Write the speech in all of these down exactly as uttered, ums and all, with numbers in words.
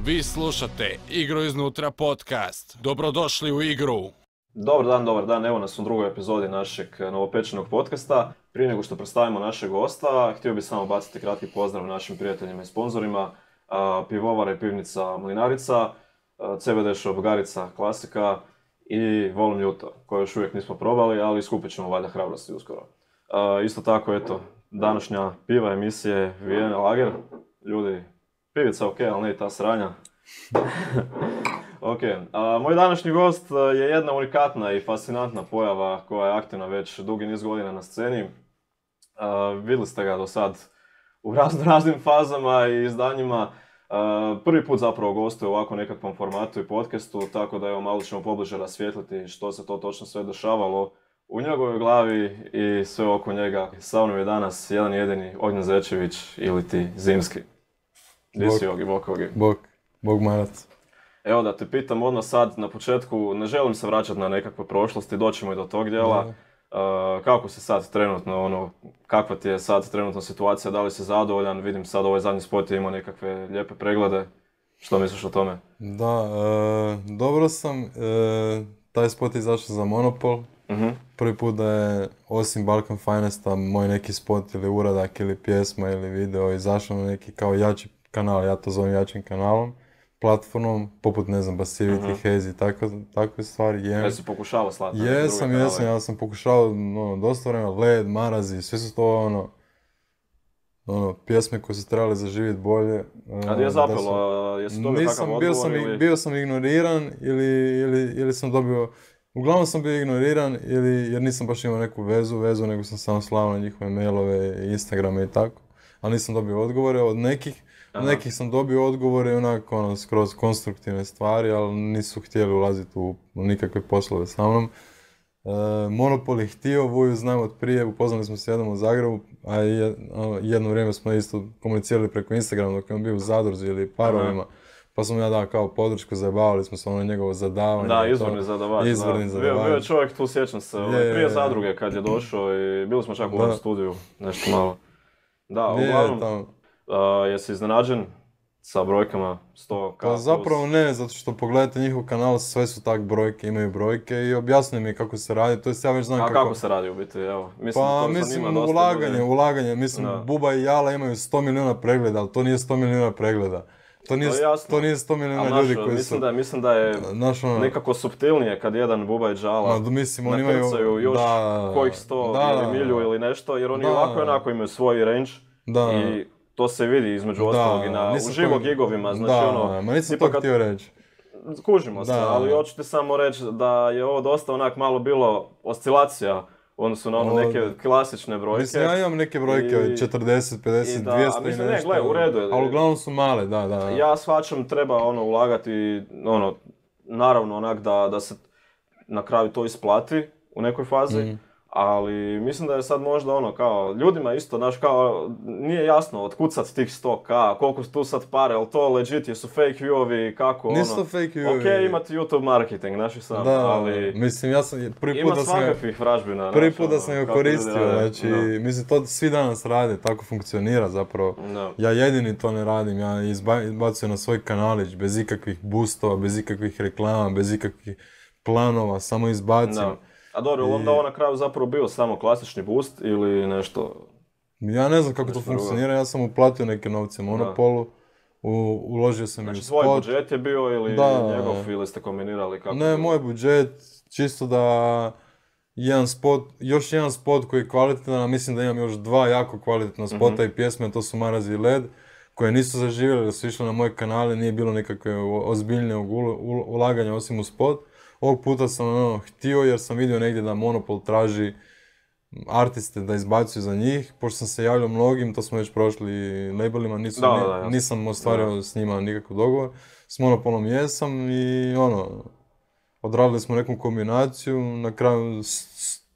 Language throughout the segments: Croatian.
Vi slušate Igru iznutra podcast. Dobrodošli u igru. Dobar dan, dobar dan. Evo nas u drugoj epizodi našeg novopečenog podcasta. Prije nego što predstavimo našeg gosta, htio bih samo baciti kratki pozdrav našim prijateljima i sponzorima. Pivovara i pivnica Mlinarica, C B D Shop Garica Klasika i Volum Ljuto, koje još uvijek nismo probali, ali skupit ćemo valjda hrabrosti uskoro. Isto tako, eto, današnja piva emisije Vijena Lager. Ljudi, pivica ok, ali ne i ta sranja. Ok, a, moj današnji gost je jedna unikatna i fascinantna pojava koja je aktivna već dugi niz godina na sceni. A, vidjeli ste ga do sad u razno raznim fazama i izdanjima. A, prvi put zapravo gostuje u ovako nekakvom formatu i podcastu, tako da evo malo ćemo pobliže rasvijetliti što se to točno sve dešavalo u njegovoj glavi i sve oko njega. Sa mnom je danas jedan jedini Ognjen Zečević ili ti Zimski. Gdje si Ogi, bok Ogi? Bok, bog marac. Evo da te pitam odmah sad na početku, ne želim se vraćati na nekakve prošlosti, doćemo i do tog dijela. Uh, kako si sad trenutno, ono, kakva ti je sad trenutno situacija, da li si zadovoljan? Vidim sad ovaj zadnji spot je imao nekakve lijepe preglede. Što misliš o tome? Da, e, dobro sam. E, taj spot je izašao za Monopol. Uh-huh. Prvi put da je, osim Balkan Finesta, moj neki spot ili uradak ili pjesma ili video izašao na neki kao jači kanal, ja to zovem jačim kanalom, platformom, poput, ne znam, Basivity, uh-huh. Hazy, tako, takve stvari. Je, Jesi pokušavao slati? Jesam, jesam, ja sam pokušao, ono, dosta vremena, Led, Marazi, sve su to, ono, ono, pjesme koje su trebali zaživjeti bolje. A gdje je zapelo? Jesi dobio kakav odgovor? Bio sam, ili... bio sam ignoriran ili, ili, ili sam dobio, uglavnom sam bio ignoriran ili, jer nisam baš imao neku vezu, vezu, nego sam samo slao na njihove mailove, Instagrame i tako, ali nisam dobio odgovore od nekih. Aha. Nekih sam dobio odgovore onako ono, skroz konstruktivne stvari, ali nisu htjeli ulaziti u, u nikakve poslove sa mnom. E, Monopol je htio, Vuju znam od prije, upoznali smo se jednom u Zagrebu, a jedno vrijeme smo isto komunicirali preko Instagrama dok je on bio u Zadruzi ili Parovima. Aha. Pa sam ja dao kao podršku, zajebavali smo se ono njegovo zadavanje. Da, izvorni zadavač. Izvorni zadavač. Bio je čovjek tu, sjećam se, je, prije Zadruge kad je došao i bili smo čak u ovom studiju, nešto malo. Da, uglavnom... Tamo. Uh, jesi iznenađen sa brojkama sto ka? Pa zapravo ne, zato što pogledajte njihov kanal, sve su tak brojke, imaju brojke i objasni mi kako se radi, to jest ja već znam A kako... kako se radi u biti, evo? Mislim, pa mislim ulaganje, dosta ulaganje, mislim da. Buba i Jala imaju sto milijuna pregleda, ali to nije sto milijuna pregleda. To nije, to, to nije sto milijuna naš, ljudi koji mislim su... Da, mislim da je naš, ono, nekako suptilnije kad jedan Buba i Jala no, mislim, nakrcaju još da, kojih sto da, ili milju ili nešto, jer oni da, ovako i onako imaju svoj range da. I to se vidi između ostalog i na uživo gigovima, znači da, ono... ma nisam to htio reći. Kužimo da. Se, ali hoću ti samo reći da je ovo dosta onak malo bilo oscilacija u odnosu na ono neke klasične brojke. Mislim, ja imam neke brojke od četrdeset, pedeset, dvjesto i mislim, nešto. Ne, gle, u redu je. Ali uglavnom su male, da, da. Ja shvaćam, treba ono ulagati, ono, naravno onak da, da se na kraju to isplati u nekoj fazi. Mm. Ali mislim da je sad možda ono kao, ljudima isto, znaš kao, nije jasno otkucat tih sto ka, koliko su tu sad pare, ali to legit, jesu fake viewovi, kako ono... Nisu fake viewovi. Ok, imate YouTube marketing, znaš i sam, da, ali... mislim, ja sam prvi put da sam... Ima svakakvih vražbina, prvi put da sam ga koristio, znači, no. Mislim, to svi danas rade, tako funkcionira zapravo. No. Ja jedini to ne radim, ja izbacujem na svoj kanalić, bez ikakvih boostova, bez ikakvih reklama, bez ikakvih planova, samo izbacim. No. A dobro, I... onda ovo na kraju zapravo bio samo klasični boost ili nešto... Ja ne znam kako to funkcionira, drugo. Ja sam uplatio neke novce Monopolu, u, uložio sam znači, i u spot. Znači svoj budžet je bio ili da, njegov ili ste kombinirali kako? Ne, moj budžet, čisto da jedan spot, još jedan spot koji je kvalitetan, a mislim da imam još dva jako kvalitetna spota mm-hmm. i pjesme, to su Marazi i Led, koje nisu zaživjeli, da su išle na moj kanal, nije bilo nekakve ozbiljnog ulaganja osim u spot. Ovog puta sam ono, htio jer sam vidio negdje da Monopol traži artiste da izbacuju za njih. Pošto sam se javljao mnogim, to smo već prošli labelima, nisam, da, da, da, nisam ostvario da. S njima nikakav dogovor. S Monopolom jesam i ono, odradili smo neku kombinaciju, na kraju s,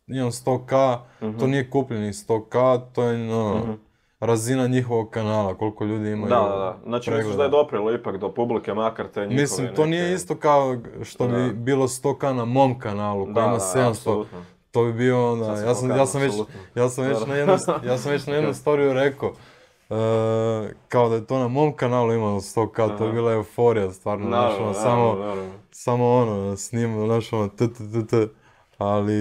imam sto ka, uh-huh. to nije kupljeni sto ka, to je ono, uh-huh. razina njihovog kanala, koliko ljudi imaju. Da, da, da. Znači misliš da je doprelo ipak do publike, makar te njihove Mislim, to neke... nije isto kao što da. Bi bilo sto ka na mom kanalu, koji ima sedamsto. Apsolutno. To bi bio onda, ja sam, ja sam već, ja sam već na jednu, ja sam već na jednu storiju rekao, E, kao da je to na mom kanalu imalo sto ka, to je Aha. bila euforija, stvarno, znaš, Naravno, ono, naravno, samo, naravno. samo ono, snimam, znaš, ono, t, t, t, t. Ali,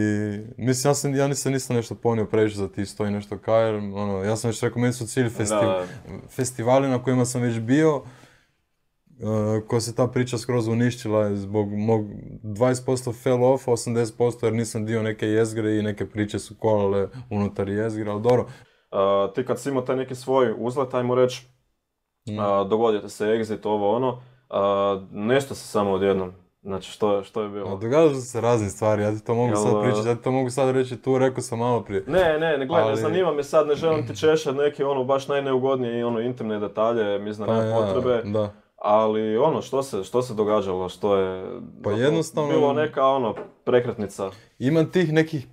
mislim, ja, sam, ja nisam, nisam nešto ponio previše za ti sto i nešto ka, jer, ono, ja sam već rekao, meni su cilj festi, Da. festivali na kojima sam već bio, Uh, ko se ta priča skroz uništila zbog mog dvadeset posto fell off, osamdeset posto jer nisam dio neke jezgre i neke priče su kolale unutar jezgre, ali dobro. Uh, ti kad si imao taj neki svoj uzlet, ajmo reći, Mm. uh, dogodio te se exit, ovo ono, uh, nešto se samo odjednom. Znači, što, je- što je A bilo? događaju su se razne stvari, ja ti to mogu Jel, sad uh, pričati, ja ti to mogu sad reći tu, rekao sam malo prije. Ne, ne, ne, gledaj, ne Ali- zanima me sad, ne želim ti češat neke ono baš najneugodnije i ono intimne detalje, mislim da Pa nema ja, potrebe. da. Ali ono, što se, što se događalo, što je Pa zapravo jednostavno- bilo neka ono prekretnica. Ima tih nekih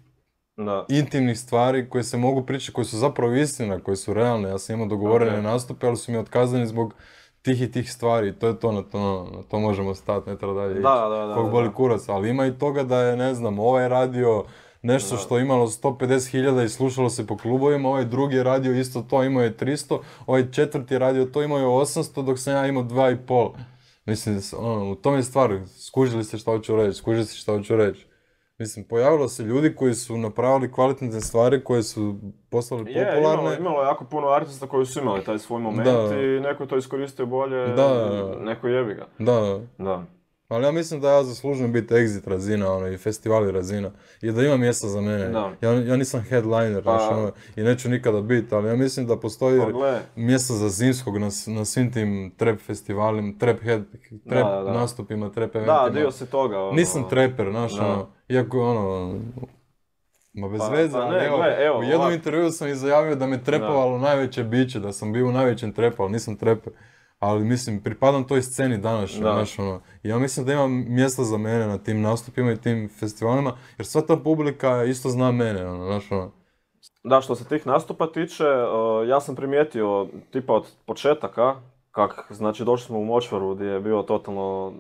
Da. intimnih stvari koje se mogu pričati, koje su zapravo istina, koje su realne. Ja sam imao dogovorene Ok. nastupe, ali su mi otkazani zbog tih i tih stvari. To je to, na to, na to možemo stati, ne treba dalje ići. Da, da, da, Kog da, boli da. kurac, ali ima i toga da je, ne znam, ovaj radio nešto Da. što je imalo sto pedeset hiljada i slušalo se po klubovima, ovaj drugi je radio isto to, imao je tristo, ovaj četvrti je radio to, imao je osamsto, dok sam ja imao dva i pol. Mislim, ono, u tome je stvar, skužili ste šta hoću reći, skužili ste šta hoću reći. Mislim, pojavilo se ljudi koji su napravili kvalitetne stvari, koje su postale Je, popularne. imalo, imalo je jako puno artista koji su imali taj svoj moment Da. i neko je to iskoristio bolje, Da. neko jebi ga. Da, Da. ali ja mislim da ja zaslužujem biti exit razina, ono, i festivali razina, i da ima mjesta za mene. Da. Ja, ja nisam headliner, Pa- znaš, ono, i neću nikada biti, ali ja mislim da postoji Pa gle, mjesta za zimskog na, s- na svim tim trap festivalima, trap, head, trap Da, da, da. nastupima, trap eventima. da, dio si toga. Ono. Nisam treper, znaš, Da. ono, iako je ono, ma bez Pa- veze, pa ali ne, evo, gle, evo, u jednom ovak- intervjuu sam izjavio da me trepovalo najveće biće, da sam bio u najvećem trepu, ali nisam treper. Ali mislim, pripadam toj sceni današnjoj, Da. znaš, ono, i ja mislim da ima mjesta za mene na tim nastupima i tim festivalima, jer sva ta publika isto zna mene, ono, znaš, ono. Da, što se tih nastupa tiče, uh, ja sam primijetio tipa od početaka, kak, znači došli smo u Močvaru gdje je bio totalno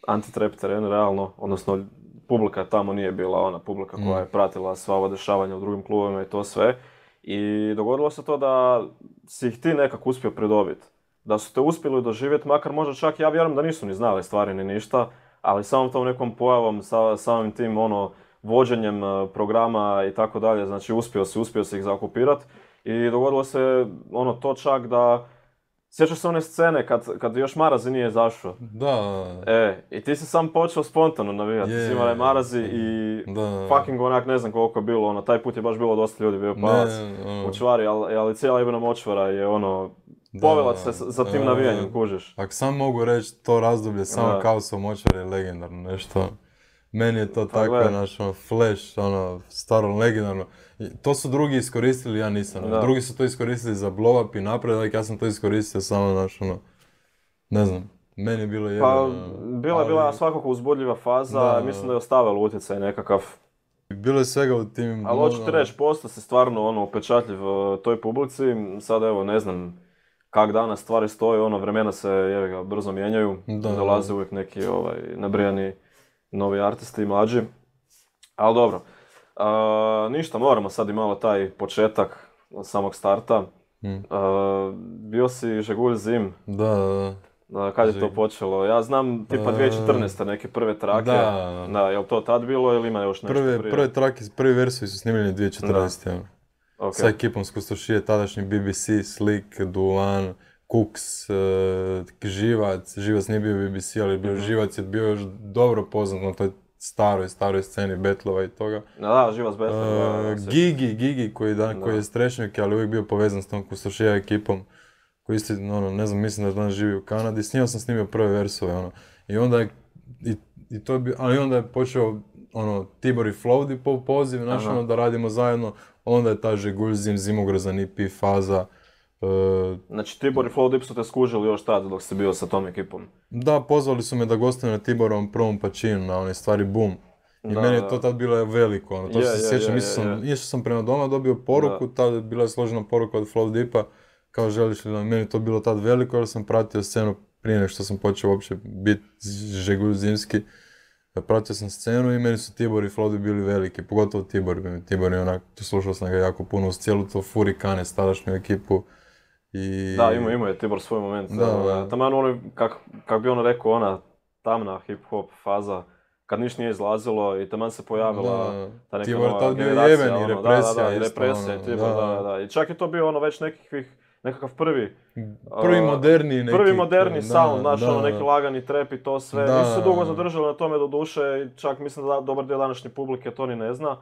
anti-trap teren, realno, odnosno publika tamo nije bila ona publika koja Mm. je pratila sva ova dešavanja u drugim klubovima i to sve. I dogodilo se to da si ih ti nekako uspio pridobiti. Da su te uspjeli doživjeti, makar možda čak, ja vjerujem da nisu ni znali stvari ni ništa, ali samom tom nekom pojavom, sa, samim tim ono, vođenjem uh, programa i tako dalje, znači uspio si, uspio si ih zaokupirati. I dogodilo se ono to čak da, sjećaš se one scene kad, kad još Marazi nije izašao. Da, E, i ti si sam počeo spontano navijati, Je, si imali Marazi i da. fucking onak, ne znam koliko je bilo, ono, taj put je baš bilo dosta ljudi, bio palac ono, u čvari, ali, ali cijela Ibana Močvara je ono, da, povela se s- za tim e, navijanjem, kužiš. Ako sam mogu reći, to razdoblje samo Da. kao sa Močvar je legendarno, nešto. Meni je to Pa tako, gle. znaš, ono, Flash, ono, staro legendarno. I to su drugi iskoristili, ja nisam. ono. Da. Drugi su to iskoristili za blow up i napredak, ja sam to iskoristio samo, znaš, ono, ne znam, meni je bilo jedno. Pa, bila je bila svakako uzbudljiva faza, Da. mislim da je ostavilo utjecaj nekakav. Bilo je svega u tim... Ali hoću ti ono, reći, posto se stvarno ono, upečatljiv uh, toj publici, sad evo, ne znam kak danas stvari stoje, ono, vremena se jevi ga, brzo mijenjaju, Da. dolaze uvijek neki ovaj, nabrijani novi artisti i mlađi. Ali dobro, uh, ništa, moramo sad i malo taj početak od samog starta. Mm. Uh, bio si Žegulj Zim, Da, da, uh, kad je to Žeg- počelo? Ja znam tipa Uh, dvije tisuće četrnaeste neke prve trake. Da. Da, jel to tad bilo ili ima još nešto Prve, prije? prve trake, prvi versovi su snimljeni dvije tisuće četrnaeste. ono. Ok. Sa ekipom s Kustošije, tadašnji B B C, Slick, Duan, Cooks, e, Živac. Živac nije bio B B C, ali bio Mhm. Živac je bio još dobro poznat na toj staroj, staroj sceni betlova i toga. Da, da, Živac Betlov, da, da, E, da, sjećam. Gigi, Gigi koji, da, Da. koji je strešnjak, ali uvijek bio povezan s tom Kustošija ekipom. Koji isti, ono, ne znam, mislim da danas živi u Kanadi. S njima sam snimio prve versove, ono. I onda je, i, i to je bio, ali onda je počeo, ono, Tibor i Flowdi po poziv, znaš, Aha. ono, da radimo zajedno. Onda je ta Žegulj Zim, Zimogrozan, E P, Faza. e, Znači Tibor i Flow Dip su te skužili još tad dok si bio sa tom ekipom. da, pozvali su me da gostujem na Tiborovom prvom pačinu, na one stvari Boom. I Da, meni je da. to tad bilo veliko, ono, to Je, se je, sjećam, je, išao je, sam, je. išao sam prema doma, dobio poruku, tad je bila složena poruka od Flow Dipa, kao želiš li da meni je to bilo tad veliko, jer sam pratio scenu prije nego što sam počeo uopće biti Žegulj Zimski. Pratio sam scenu i meni su Tibor i Flow Dip bili veliki, pogotovo Tibor. Tibor je onak, slušao sam ga jako puno uz cijelu to Furikane, tadašnju ekipu. I... Da, ima, ima je Tibor svoj moment. Da. Taman ono, kak, kak bi ono rekao, ona tamna hip-hop faza, kad niš nije izlazilo i taman se pojavila Da. ta neka Tibor nova tad bio generacija. jeben i ono, represija da, da, da, i isto, represija ono, i Tibor, da. da, da, da. I čak je to bio ono već nekakvih, nekakav prvi... Prvi uh, moderni neki... Prvi moderni da, sound, znaš, da. ono, neki lagani trap i to sve. Da. Nisu se dugo zadržali na tome do duše i čak mislim da dobar dio današnje publike to ni ne zna.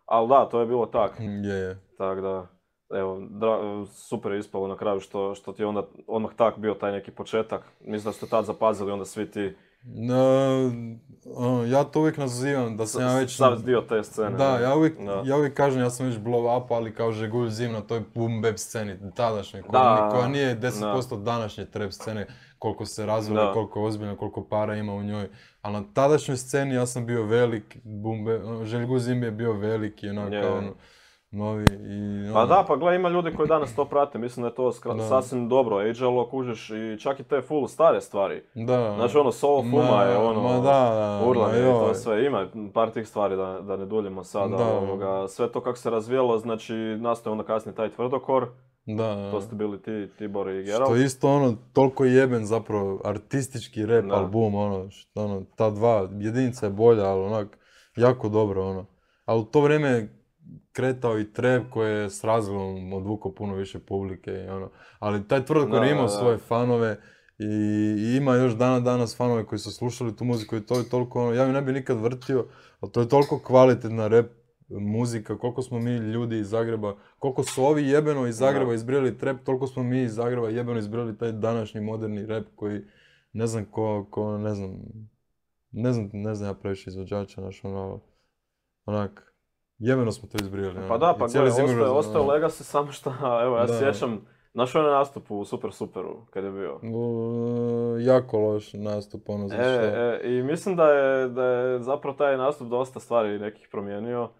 Ali da, to je bilo tak. Je, je. Tak da, evo, dra, super je ispalo na kraju što, što ti je onda odmah tak bio taj neki početak. Mislim da ste tad zapazili onda svi ti... No, ono, ja to uvijek nazivam da sam ja već... Sad dio te scene. Da, ne? ja uvijek, Da. ja uvijek kažem ja sam već blow up, ali kao Žegulj Zim na toj boom bap sceni, tadašnjoj, koja, Da, koja nije deset da. posto današnje trap scene, koliko se razvila, Da. koliko je ozbiljno, koliko para ima u njoj. Ali na tadašnjoj sceni ja sam bio velik, boom bap, ono, Željko Zim je bio veliki, ono, Je. kao ono, novi i... Pa ono, da, pa gle, ima ljudi koji danas to prate, mislim da je to skra- Da. sasvim dobro, age-alo kužiš i čak i te full stare stvari. Da. Znači ono, Solo Fuma Ma- je ono, ma da, da, urlanje ma i to joj. sve, ima par tih stvari da, da ne duljimo sada, Da. ovoga, sve to kako se razvijalo, znači nastaje onda kasnije taj tvrdokor, Da. to ste bili ti, Tibor i Što Geralt. je isto ono, toliko jeben zapravo artistički rap Da. album, ono, što, ono, ta dva, jedinica je bolja, ali onak, jako dobro, ono. Ali u to vrijeme je kretao i trap koji je s razlogom odvukao puno više publike, i ono. Ali taj tvrdokor Da, je imao da, da. svoje fanove i, i ima još dana danas fanove koji su slušali tu muziku i to je toliko, ono, ja ju ne bi nikad vrtio, ali to je toliko kvalitetna rap muzika, koliko smo mi ljudi iz Zagreba, koliko su ovi jebeno iz Zagreba Da. izbrili trap, toliko smo mi iz Zagreba jebeno izbrili taj današnji moderni rap koji ne znam ko, ko ne znam, ne znam, ne znam ja previše izvođača, znaš, ono, onak, jebeno smo to izbrili. Pa ono, da, i pa cijeli gledaj, Zimmer, ostaje, ostaje ono, legacy samo što, evo, ja se Da. sjećam, znaš onaj nastup u Super Superu, kad je bio? u- jako loš nastup, ono, za E, što. e, i mislim da je, da je zapravo taj nastup dosta stvari nekih promijenio.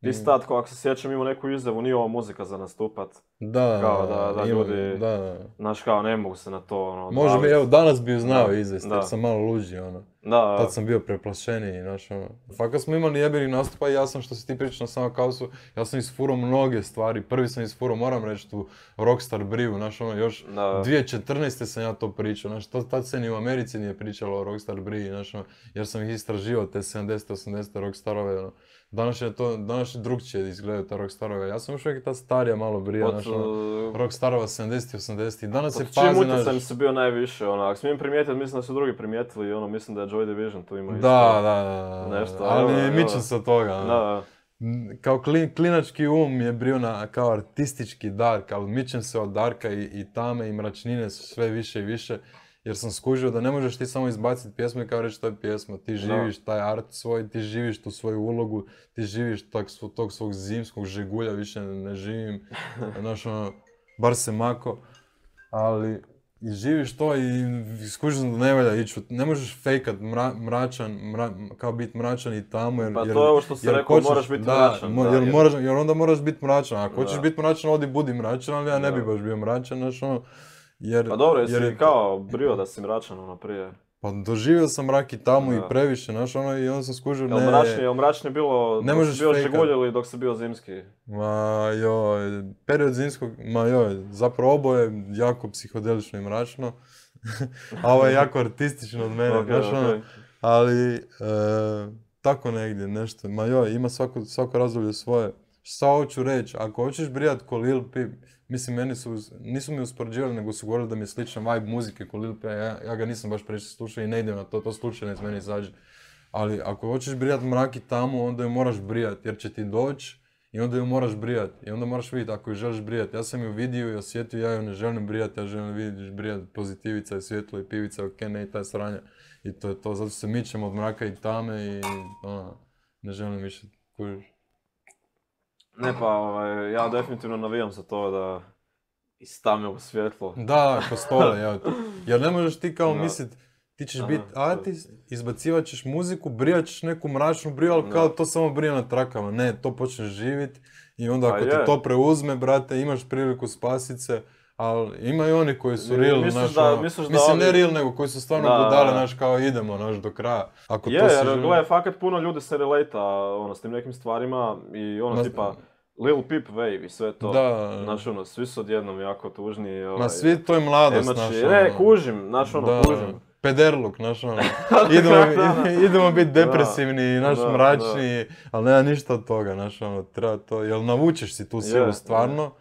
Ti Mm. si tad, ako se sjećam, imao neku izjavu, nije ovo muzika za nastupat. Da, kao da- da ima- ljudi- da, da. Znaš, kao, ne mogu se na to, ono, Može mi, odvalit. evo, danas bi ju znao Da, izvesti, da. jer sam malo luđi, ono. Da, Tad sam bio preplašeniji, znaš, ono. Fakat smo imali jebeni nastupa i ja sam, što si ti pričao na samom kaosu, ja sam isfurao mnoge stvari. Prvi sam isfurao, moram reći, tu Rockstar Briju, znaš, ono, još da. dvije tisuće četrnaeste. sam ja to pričao, znaš, to, tad se ni u Americi nije pričalo o Rockstar Briji, znaš, ono, jer sam ih istraživao, te sedamdesete, osamdesete Rockstarove, ono. Danas je to, danas je drugčije izgledaju ta Rockstarove. Ja sam još uvijek ta starija malo Brija, Od, znaš, ono, uh, Rockstarova sedamdesetih, osamdesetih. Danas se pod čijim pazi, utjecajem znaš, si bio najviše, ono, ako smijem primijetiti, mislim da su drugi primijetili, ono, mislim da je Joy Division tu ima isto. da, da, da, Nešto, ali evo, evo. mičem se od toga, ono. Da, M, Kao klin- klinački um je bio na, kao artistički dark, ali mičem se od darka i, i tame i mračnine sve više i više, jer sam skužio da ne možeš ti samo izbaciti pjesmu i kao reći to je pjesma, ti živiš taj art svoj, ti živiš tu svoju ulogu, ti živiš tog, svo- tog svog zimskog žegulja, više ne, ne živim, znaš ono, bar se mako, ali i živiš to i skužiš da ne valja ići, u- ne možeš fejkat mra, mračan, mra- kao biti mračan i tamo, jer, Pa jer, to je ovo što si jer rekao, hoćeš- moraš biti da, mračan, mo- da, jer, jer- moraš, jer onda moraš biti mračan, ako hoćeš Da. biti mračan, odi budi mračan, ali ja ne bi Da. baš bio mračan, znaš ono, jer... pa dobro, jesi jer je- kao brio da si mračan, ono, prije. Pa doživio sam mrak i tamo Da. i previše, znaš ono, i onda sam skužio, Jel ne... mračnije, jel mračnije bilo ne dok možeš si bio fejkat. žegulj ili dok si bio zimski? Ma joj, period zimskog, ma joj, zapravo oboje jako psihodelično i mračno, a ovo je jako artistično od mene, Ok, znaš ono, ok. ali e, tako negdje nešto, ma joj, ima svako, svako razdoblje svoje. Šta hoću reći, ako hoćeš brijat ko Lil Peep, mislim, meni su, nisu mi uspoređivali, nego su govorili da mi je sličan vibe muzike ko Lil Peep, ja, ja ga nisam baš previše slušao i ne idem na to, to slučajno iz meni izađe. Ali ako hoćeš brijat mrak i tamu, onda ju moraš brijat, jer će ti doći i onda ju moraš brijat. I onda moraš vidjeti ako ju želiš brijat. Ja sam ju vidio i osjetio, ja ju ne želim brijat, ja želim vidjeti brijat pozitivica i svjetlo i pivica, ok, ne i ta sranja. I to je to, zato se mičem od mraka i tame i ono, ne želim više kužiš. Ne pa, ovaj, ja definitivno navijam za to da istame u svjetlo. Da, ko stole, ja. Jer ne možeš ti kao Da. mislit, ti ćeš Aha, biti to- artist, izbacivat ćeš muziku, brijat ćeš neku mračnu briju, ali Da. kao to samo brije na trakama. Ne, to počneš živit i onda Pa ako je. te to preuzme, brate, imaš priliku spasit se, ali ima i oni koji su Mi- real, misliš znaš, da- ono, misliš da mislim ne ovi- real, nego koji su stvarno Da, budale, da. znaš, kao idemo, znaš, do kraja. Ako Je, to si jer želi- gle, fakat puno ljudi se relata ono, s tim nekim stvarima i ono Ma- tipa, Lil Peep Wave i sve to. Da. Znači ono, svi su odjednom jako tužni. Ovaj, Ma svi, to je mladost, Emači, znaš, ne, ono. kužim, znači ono, Da, kužim. pederluk, znaš, ono. Idemo, Da, da. idemo biti depresivni, naš Da, mračni, ali nema ništa od toga, znaš, ono, treba to, jel navučeš si tu silu Je, stvarno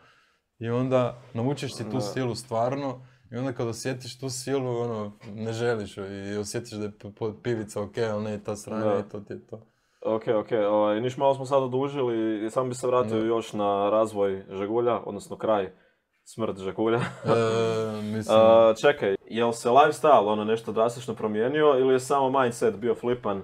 i onda navučeš si tu Da. silu stvarno i onda kad osjetiš tu silu, ono, ne želiš ju i osjetiš da je p- p- pivica ok, ali ne ta sranja Da. i to ti je to. Ok, ok, ovaj, niš malo smo sad odužili i sam bi se vratio Da. još na razvoj Žegulja, odnosno kraj, smrt Žegulja. E, mislim, Uh, čekaj, jel se lifestyle ono nešto drastično promijenio ili je samo mindset bio flipan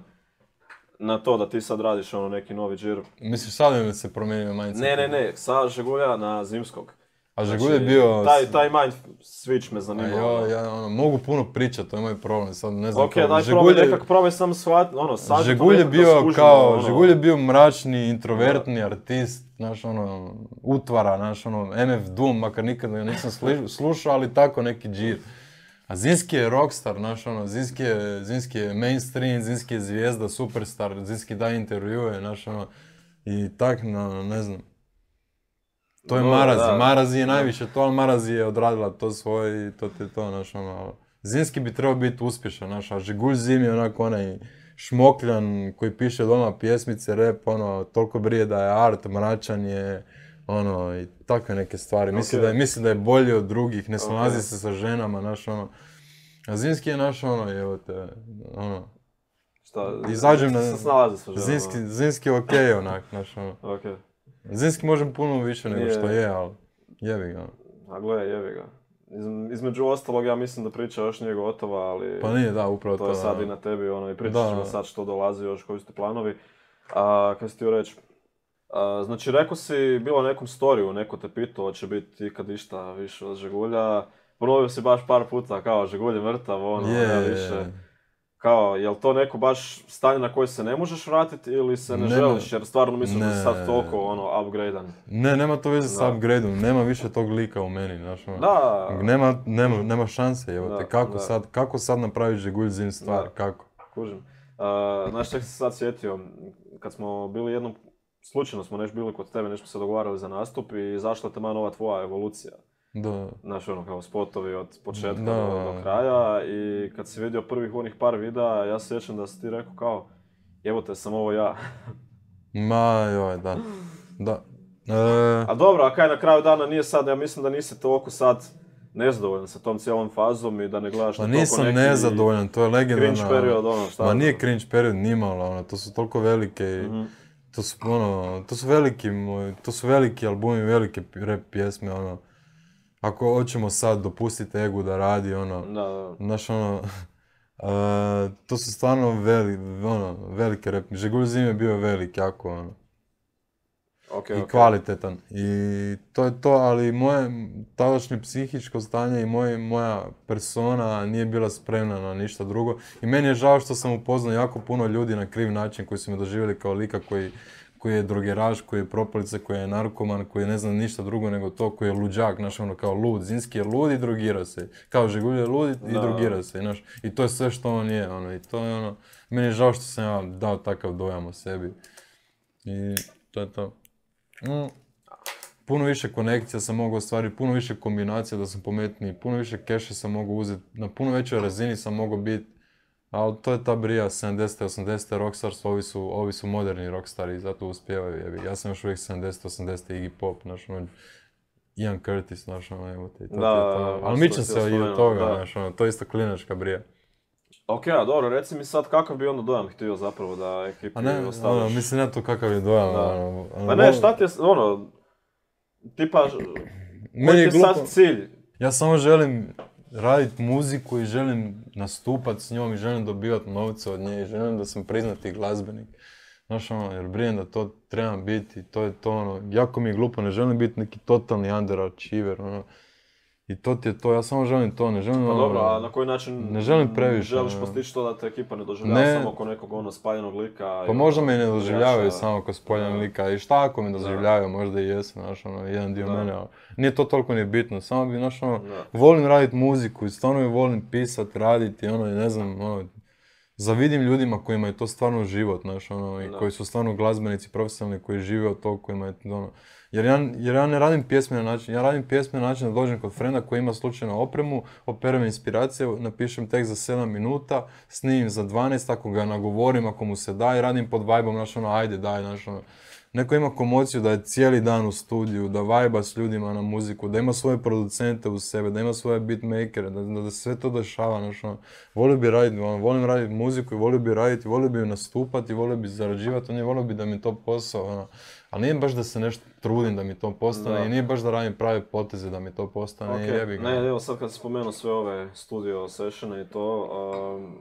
na to da ti sad radiš ono neki novi džir? misliš sad mi se promijenio mindset? Ne, ne, ne, sa Žegulja na zimskog. A Žegulj je bio... Taj, taj mind switch me A zanima. jo, ono. ja ono, mogu puno pričat, to je moj problem, sad ne znam Ok, kao, daj Žegulj probaj je- nekak, probaj sam shvat, ono, sažeti to Žegulj je nekako da bio skužimo, kao, ono. Žegulj je bio mračni, introvertni artist, znaš ono, utvara, znaš ono, M F Doom, makar nikad ga nisam sli- slušao, ali tako neki džir. A Zinski je rockstar, znaš ono, Zinski je, Zinski je mainstream, Zinski je zvijezda, superstar, Zinski daje intervjue, znaš ono, i tak, no, ne znam. To je Dobro, Marazi, da. Marazi je najviše to, ali Marazi je odradila to svoje i to ti je to, znaš ono. Zinski bi trebao biti uspješan, znaš, a Žigulj Zim je onako onaj šmokljan koji piše doma pjesmice, rap, ono, toliko brije da je art, mračan je, ono, i takve neke stvari. Misli, Ok. da je, misli da je bolji od drugih, ne snalazi Ok. se sa ženama, znaš, ono. A Zinski je naš, ono, evo te, ono, Šta, izađem na- se snalazi sa ženama. Zinski, Zinski je okej, onak, znaš, ono. Ok, Zinski može puno više nego Nije. što je, ali jebi ga. a gle, jebi ga. Iz- između ostalog, ja mislim da priča još nije gotova, ali... Pa nije, da, upravo to. To je sad da. i na tebi, ono, i pričat Da. ćemo sad što dolazi još, koji su ti planovi. A, kaj si htio reći? A, znači, rekao si, bilo nekom storiju, neko te pitao, hoće biti ikad išta više od Žegulja. Ponovio si baš par puta, kao, Žegulj je mrtav, ono, Je, nema je, više. je. Kao, jel to neko baš stanje na koje se ne možeš vratiti ili se ne, Ne, želiš, jer stvarno misliš da si ne. sad toliko, ono, upgradean? Ne, nema to veze sa Da. upgradeom, nema više tog lika u meni, znaš ono. Da, Nema, nema, nema šanse, evo te, Da, kako da. sad, kako sad napraviti Žegulj Zim stvar, Da. kako? kužim. Uh, znaš, čak se sad sjetio, kad smo bili jednom, slučajno smo neš bili kod tebe, nešto smo se dogovarali za nastup i izašla je tamo nova tvoja evolucija. Da, Znaš, ono, kao spotovi od početka Da. do, do kraja i kad si vidio prvih onih par videa, ja se sjećam da si ti rekao kao, evo te, sam ovo ja. ma joj, da, da. E, A dobro, a kaj na kraju dana nije sad, ja mislim da nisi toliko sad nezadovoljan sa tom cijelom fazom i da ne gledaš pa na toliko nisam neki nezadovoljan, to je cringe legendarna... period, ono, šta? Ma nije cringe period nimalo, ono, to su toliko velike, i- Mhm. to su, ono, to su veliki, moj- to su veliki albumi, velike pi- rap pjesme, ono. Ako hoćemo sad dopustiti Egu da radi, ono, Da, da. znaš, ono, a, to su stvarno veli, ono, velike rap, Žegulj Zim je bio velik, jako, ono, Ok, i ok. kvalitetan. I to je to, ali moje tadašnje psihičko stanje i moj, moja persona nije bila spremna na ništa drugo. I meni je žao što sam upoznao jako puno ljudi na kriv način koji su me doživjeli kao lika koji, koji je drogeraš, koji je propalica, koji je narkoman, koji ne zna ništa drugo nego to, koji je luđak, znaš, ono, kao lud. Zinski je lud i drogira se. Kao Žegulj je lud i Da. drogira se, znaš. I to je sve što on je, ono, i to je ono, meni je žao što sam ja dao takav dojam o sebi. I to je to. Mm. Puno više konekcija sam mogao ostvariti, puno više kombinacija da sam pametniji, puno više keša sam mogao uzeti, na puno većoj razini sam mogao biti, ali to je ta brija sedamdesete osamdesete rockstars, ovi su, ovi su moderni rockstari i zato uspijevaju, jebi. Ja sam još uvijek sedamdesete osamdesete Iggy Pop, znaš, ono, Ian Curtis, znaš, ono, evo te, to ti je Da, to. da, Ali to mičem si se i spomenuo, od toga, da. znaš, ono, to je isto klinačka brija. Ok, a dobro, reci mi sad kakav bi onda dojam htio zapravo da ekipi A ne, ostaviš. ono, mislim, ne to kakav je dojam, Da. ono, ono, Pa ne, šta ti je, s- ono, tipa, Meni koji ti je je glupo. sad cilj? Ja samo želim raditi muziku i želim nastupat s njom i želim dobivati novce od nje i želim da sam priznati glazbenik. Znaš ono, jer brijem da to trebam biti, to je to ono, jako mi je glupo, ne želim biti neki totalni underachiever, ono. I to ti je to, ja samo želim to, ne želim Pa ono... dobro, a na koji način ne želim previše, želiš ono. postići to da te ekipa ne doživljava Ne. samo oko nekog ono spaljenog lika? Pa i možda ono, me i ne doživljavaju igrača? samo kao spoljan Da. lika i šta ako me doživljavaju, možda i jesu, znaš ono, jedan dio Da. mene, ali nije to toliko ni bitno, samo bi, znaš ono, Da. volim raditi muziku i stvarno je volim pisat, raditi, ono, i ne znam, ono, zavidim ljudima kojima je to stvarno život, znaš, ono, i Da. koji su stvarno glazbenici, profesionalni, koji žive od toga, kojima je, ono, Jer ja, jer ja ne radim pjesme na način, ja radim pjesme na način da dođem kod frenda koji ima slučajno opremu, operem inspiracije, napišem tekst za sedam minuta, snimim za dvanaest, ako ga nagovorim, ako mu se da i radim pod vibe-om, znaš ono, ajde, daj, znaš ono. Neko ima komociju da je cijeli dan u studiju, da vajba s ljudima na muziku, da ima svoje producente uz sebe, da ima svoje beatmakere, da, da, da sve to dešava, znaš ono. Volio bi raditi, ono, volim raditi muziku i volio bi raditi, volio bi nastupati, volio bi zarađivati, ono, volio bi da mi to posao, ono. Ali nije baš da se nešto trudim da mi to postane Da. i nije baš da radim prave poteze da mi to postane i Ok, jebi ga. ne, evo sad kad sam spomenuo sve ove studio sessione i to, um,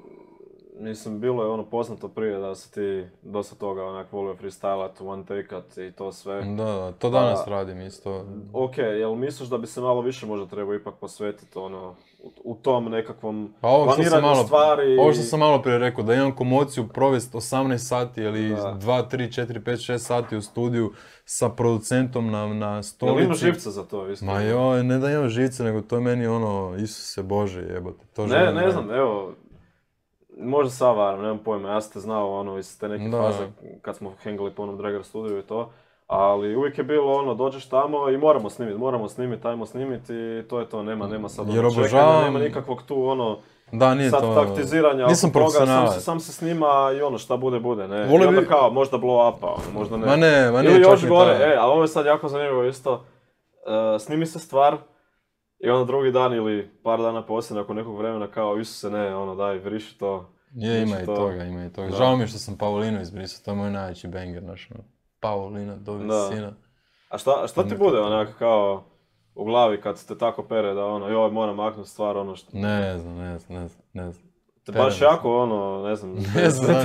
mislim, bilo je ono poznato prije da si ti dosta toga onak volio freestylat, one take-at i to sve. Da, da, to danas Pa, radim isto. Ok, jel misliš da bi se malo više možda trebao ipak posvetiti ono, u, u tom nekakvom Pa ovo što sam planiranju malo, stvari? ovo što sam malo prije rekao, da imam komociju provesti osamnaest sati ili Da. dva, tri, četiri, pet, šest sati u studiju sa producentom na, na Jel stolici. imaš živca za to isto? Ma joj, ne da imam živce, nego to je meni ono, Isuse Bože jebote. To Ne, želim ne raditi. znam, evo, možda sad varam, nemam pojma, ja sam te znao ono iz te neke Da. faze kad smo hengali po onom Dragar studiju i to, ali uvijek je bilo ono, dođeš tamo i moramo snimiti, moramo snimiti, ajmo snimiti i to je to, nema, nema sad Jer ono čekanja, obožavam- nema nikakvog tu ono, Da, nije sad to... taktiziranja Nisam oko toga, sam profesionalac. se, sam se snima i ono šta bude bude, ne, Volio i onda bi- kao možda blow upa, ono, možda ne. Ma ne, ma nije Ili čak još ni gore, taj. e, ali ovo je sad jako zanimljivo isto, e, snimi se stvar, i onda drugi dan ili par dana poslije, nakon nekog vremena kao, Isuse ne, ono daj, vriši to. Je, ima Znači i to- toga, ima i toga. Da. Žao mi je što sam Paulinu izbrisao, to je moj najveći banger, znaš, ono. Paulina, do Da. visina. A šta, šta ti bude onak kao u glavi kad te tako pere da ono, joj moram maknuti stvar ono što... Ne znam, ne znam, ne znam, ne znam. Te pere baš me jako ono, ne znam... Ne znam,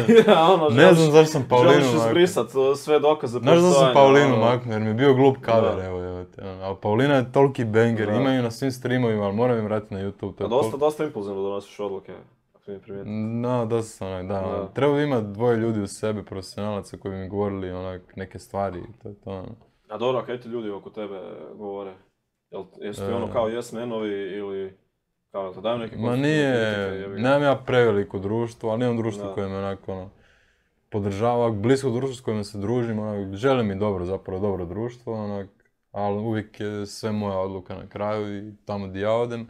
ono, ne želiš- znam zašto sam Paulinu Želiš maknuo. izbrisat uh, sve dokaze Znaš da sam postojanja, Paulinu ono. maknuo jer mi je bio glup cover, Da. evo, evo te. ono. Ali Paulina je toliki banger, Da. imaju na svim streamovima, ali moram im vratiti na YouTube. To A je dosta, tol- dosta impulzivno donosiš odluke, ako mi primijetio. No, dosta sam onak, da, Da. ono, treba imati dvoje ljudi u sebi, profesionalaca koji bi mi govorili onak neke stvari i to je to. ono. A dobro, a kaj ti ljudi oko tebe govore? Jel, jesu ti E. ono kao yes manovi ili kao da daju neke Ma konstruktivne nije, kritike, jebi ga? nemam ja preveliko društvo, ali imam društvo Da. koje me onako ono, podržava, blisko društvo s kojima se družim, onak, želi mi dobro, zapravo dobro društvo, onak, ali uvijek je sve moja odluka na kraju i tamo gdje ja odem.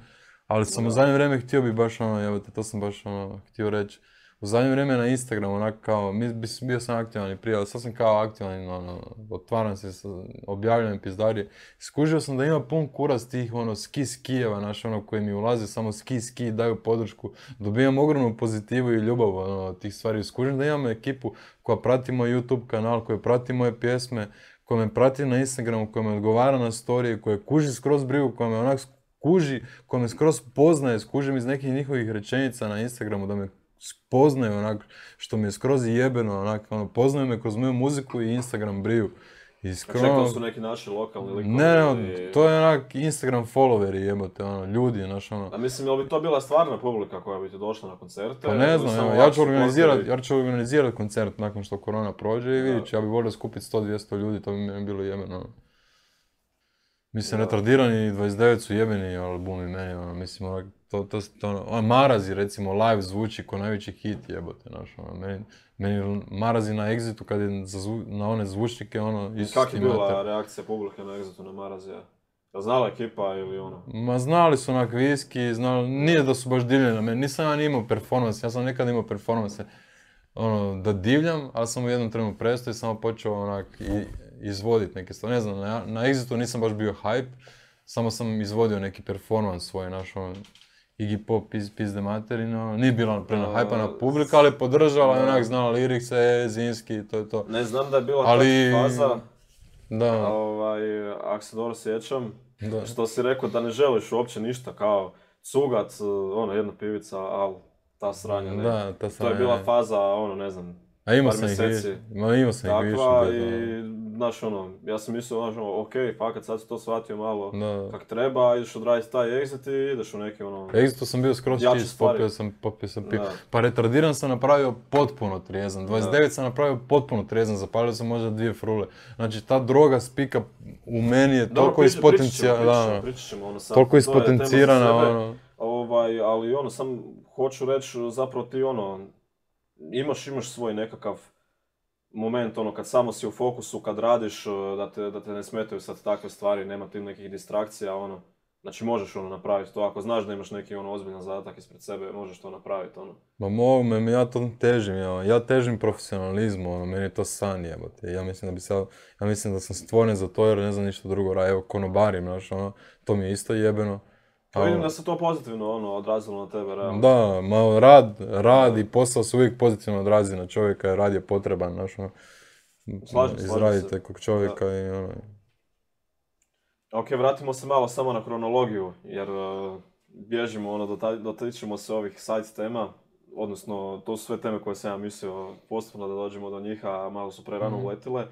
Ali sam u Da. zadnje vrijeme htio bi baš ono, evo te, to sam baš ono, htio reći. U zadnje vrijeme na Instagramu, onak kao, mi, bis- bio sam aktivan i prije, ali sad sam kao aktivan, ono, otvaram se, sa- objavljam pizdarije. Skužio sam da ima pun kurac tih, ono, ski skijeva, naš, ono, koji mi ulaze, samo ski ski, daju podršku. Dobijam ogromnu pozitivu i ljubav, ono, od tih stvari. Skužim da imamo ekipu koja prati moj YouTube kanal, koja prati moje pjesme, koja me prati na Instagramu, koja me odgovara na storije, koja kuži skroz brigu, koja me onak kuži, koja me skroz poznaje, skužim iz nekih njihovih rečenica na Instagramu da me spoznaju onak, što mi je skroz jebeno, onak, ono, poznaju me kroz moju muziku i Instagram briju. I A skroz... čekao su neki naši lokalni likovi? Ne, ne, ili- to je onak Instagram followeri jebote, ono, ljudi, znaš, ono. A mislim, jel bi to bila stvarna publika koja bi ti došla na koncerte? Pa ne ili znam, samo evo, ja ću ovako organizirat, supporteri? ja ću organizirat koncert nakon što korona prođe i Da. vidit ću, ja bi volio skupiti sto do dvjesto ljudi, to bi meni bilo jebeno. ono. Mislim, Da. retardirani dvadeset devet su jebeni albumi meni, ono, mislim, onak, to, to, to, ono, ono, Marazi, recimo, live zvuči ko najveći hit jebote, znaš, ono, meni, meni Marazi na Exitu kad je za zvu- na one zvučnike, ono, Isus Kak je ti bila mater. reakcija publike na Exitu na Marazija? Jel znala ekipa ili ono? Ma znali su onak viski, znali, nije da su baš divljeni na meni, nisam ja ni imao performans, ja sam nekad imao performanse, ono, da divljam, ali sam u jednom trenu prestao i samo počeo onak i, izvoditi neke stvari, ne znam, na, na Exitu nisam baš bio hype, samo sam izvodio neki performans svoj, naš, ono, Iggy Pop, piz, pizde materino, nije bila prema A, hajpana publika, ali je podržala i da. onak znala lirikse, Zinski, to je to. Ne znam da je bila Ali- ta faza, Da, ovaj, ako se dobro sjećam, da. što si rekao da ne želiš uopće ništa kao cugac, ono, jedna pivica, al ta sranja, ne. Da, ta To je sranja, bila ne. faza, ono, ne znam, A imao par sam ih mjeseci više, ma imao sam ih više. takva bet, i, ono. znaš, ono, ja sam mislio, znaš, ono, okej, fakat sad si to shvatio malo Da. kak treba, ideš odraditi taj exit i ideš u neki, ono, Exitu sam bio skroz jače čist, stvari. popio sam, popio sam pivo. Da. Pa retardiran sam napravio potpuno trijezan, dvadeset devet sam napravio potpuno trijezan, zapalio sam možda dvije frule. Znači ta droga spika u meni je Dobro, toliko pričat- pričat ćemo, ispotencijala, pričat ćemo, da, pričat ćemo, ono, sad, toliko to je tema za ispotencirana, sebe. ono. Ovaj, ali ono, sam hoću reći, zapravo ti ono, imaš, imaš svoj nekakav moment, ono, kad samo si u fokusu, kad radiš, da te, da te ne smetaju sad takve stvari, nema ti nekih distrakcija, ono. Znači možeš ono napraviti to, ako znaš da imaš neki ono ozbiljan zadatak ispred sebe, možeš to napraviti, ono. Ma mogu me, ja to težim, ja, ja težim profesionalizmu, ono, meni je to san jebote. Ja mislim da bi sad, ja mislim da sam stvoren za to jer ne znam ništa drugo raditi, evo konobarim, znaš, ono, to mi je isto jebeno. Pa vidim da se to pozitivno, ono, odrazilo na tebe, realno. Da, ma rad, rad i posao se uvijek pozitivno odrazi na čovjeka jer rad je potreban, znaš, ono, Slažem, slažem izraditi se. nekog čovjeka i ono. Ok, vratimo se malo samo na kronologiju, jer uh, bježimo, ono, dota- dotičemo se ovih side tema, odnosno to su sve teme koje sam ja mislio postupno da dođemo do njih, a malo su prerano Mhm. uletile. Uh,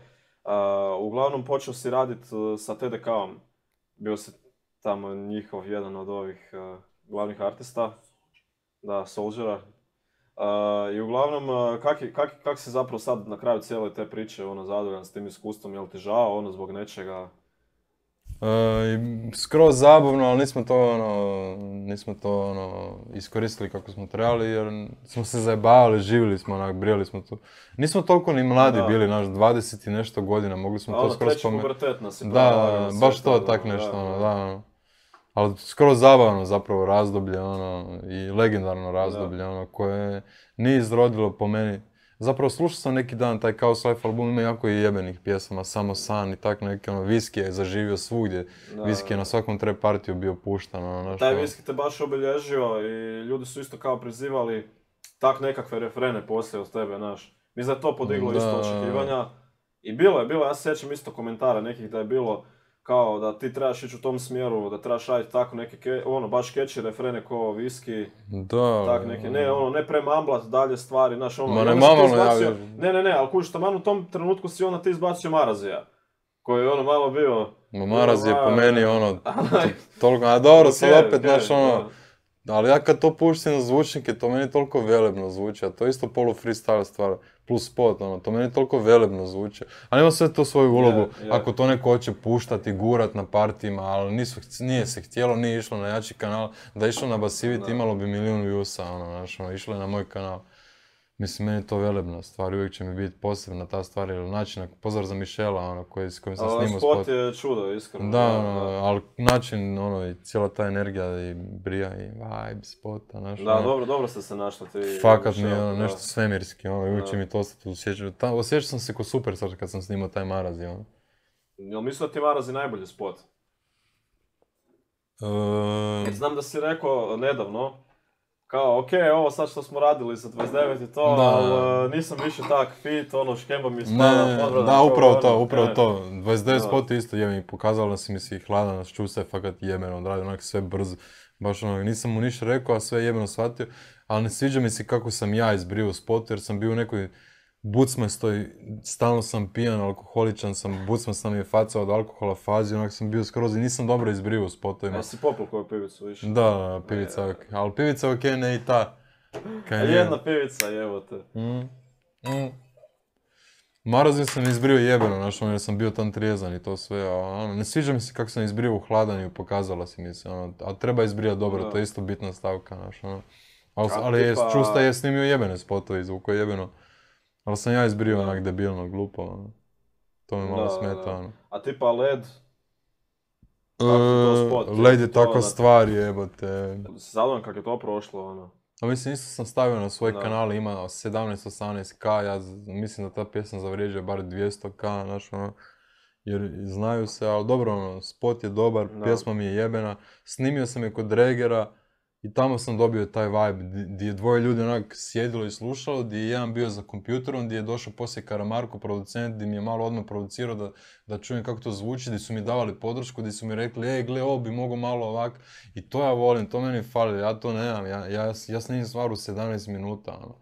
uglavnom počeo si raditi uh, sa T D K-om, bio si tamo njihov jedan od ovih uh, glavnih artista, da, Soldiera. Uh, I uglavnom, uh, kak, je- kak, kak si zapravo sad na kraju cijele te priče ono, zadovoljan s tim iskustvom, jel ti žao ono zbog nečega? E, i skroz zabavno, ali nismo to ono, nismo to ono, iskoristili kako smo trebali jer smo se zajebavali, živjeli smo onak, brijali smo tu. Nismo toliko ni mladi Da. bili, naš dvadeset i nešto godina, mogli smo A to ono, skroz treći spomenuti. pubertet nas je Da, pravo, baš sve to, to, tak da, nešto, da, ono, da. da, ono. Ali skroz zabavno zapravo razdoblje, ono, i legendarno razdoblje, ono, koje nije izrodilo po meni. Zapravo slušao sam neki dan taj Chaos Life album, ima jako i jebenih pjesama, Samo san i tak neke, ono, Viski je zaživio svugdje. Da, Viski je da. na svakom trap partiju bio puštan, ono, znaš, Taj ono. viski te baš obilježio i ljudi su isto kao prizivali tak nekakve refrene poslije od tebe, znaš. Mislim da je to podiglo Da. isto očekivanja. I bilo je, bilo je, ja se sjećam isto komentara nekih da je bilo kao da ti trebaš ići u tom smjeru, da trebaš raditi tako neke, ke, ono, baš catchy refrene ko viski, Da, tak neke, ne, ono, ne premamblat dalje stvari, znaš, ono, Ma i ne onda si ti mamalo, ja izbacio, vjerujem. ne, ne, ne, ali kužiš, taman u tom trenutku si onda ti izbacio Marazija, koji je ono malo bio, Ma Maraz je po Ono, meni, a, ono, a, toliko, a dobro, sad okej, opet, okej, znaš, ono, da. ali ja kad to puštim na zvučnike, to meni toliko velebno zvuči, a to je isto polu freestyle stvar, plus spot, ono, to meni toliko velebno zvuči. Ali ima sve to svoju ulogu, Je, je. ako to neko hoće puštati, gurat na partijima, ali nisu, nije se htjelo, nije išlo na jači kanal, da je išlo na Basivit Da. imalo bi milijun viewsa, ono, znaš, ono, išlo je na moj kanal. Mislim, meni je to velebna stvar, uvijek će mi biti posebna ta stvar, jer način, pozdrav za Mišela, ono, koji, s kojim sam Ali snimao spot spot. je čudo, iskreno. Da, ono, ali način, ono, i cijela ta energija i brija i vibe spota, znaš, Da, ono, dobro, dobro ste se našli ti. fakat mi je Michelle, ono da. nešto svemirski, ono, uvijek će Da. mi to ostati u sjećanju. Ta- Osjećao sam se ko Superstar kad sam snimao taj Marazi, ono. Jel mislio da ti Marazi najbolji spot? Ehm, Jer znam da si rekao nedavno, kao, ok, ovo sad što smo radili za dvadeset devet i to, Da. ali uh, nisam više tak fit, ono, škemba mi spada, Ne, podvrda, da, kao, upravo ono, to, upravo e. to. dvadeset devet Da. spot je isto je mi pokazalo da si mi si hladan, čusta je fakat jebeno odradio, onak sve brzo. Baš ono, nisam mu ništa rekao, a sve jebeno shvatio. Ali ne sviđa mi se kako sam ja izbrio u spotu, jer sam bio u nekoj bucmastoj, stalno sam pijan, alkoholičan sam, bucmast sam je faca od alkohola fazi, onak sam bio skroz i nisam dobro izbrio u spotovima. Jesi popil koju pivicu više? Da, da, pivica je ok, ali pivica je ok, ne i ta. Kaj A nije. jedna pivica, evo te. Mm, mm. Marazin sam izbrio jebeno, znaš, ono, jer sam bio tam trijezan i to sve, a ono, ne sviđa mi se kako sam izbrio u hladanju, pokazala si mi se, ono, a treba izbrijat dobro, Da. to je isto bitna stavka, znaš, ono. Ali, A ali je, tipa- Čusta je snimio jebene spotove, zvuko je jebeno, ali sam ja izbrio Da. onak debilno, glupo, ono. To me malo Da, smeta, da. ono. A tipa led, Kako ti to spot? E, Led je To takva na- stvar, jebote. si zadovoljan kako je to prošlo, ono. A mislim, isto sam stavio na svoj Da. kanal, ima sedamnaest osamnaest ka, ja z- mislim da ta pjesma zavrijeđuje bar dvjesto ka, znaš, ono, jer znaju se, ali dobro, ono, spot je dobar, Da. pjesma mi je jebena, snimio sam je kod Regera i tamo sam dobio taj vibe, di- di je dvoje ljudi onak sjedilo i slušalo, di je jedan bio za kompjuterom, di je došao poslije Karamarko, producent, di mi je malo odmah producirao da, da čujem kako to zvuči, di su mi davali podršku, di su mi rekli, ej, gle, ovo bi mogao malo ovak, i to ja volim, to meni fali, ja to nemam, ja, ja, ja snimim stvar u sedamnaest minuta, ono.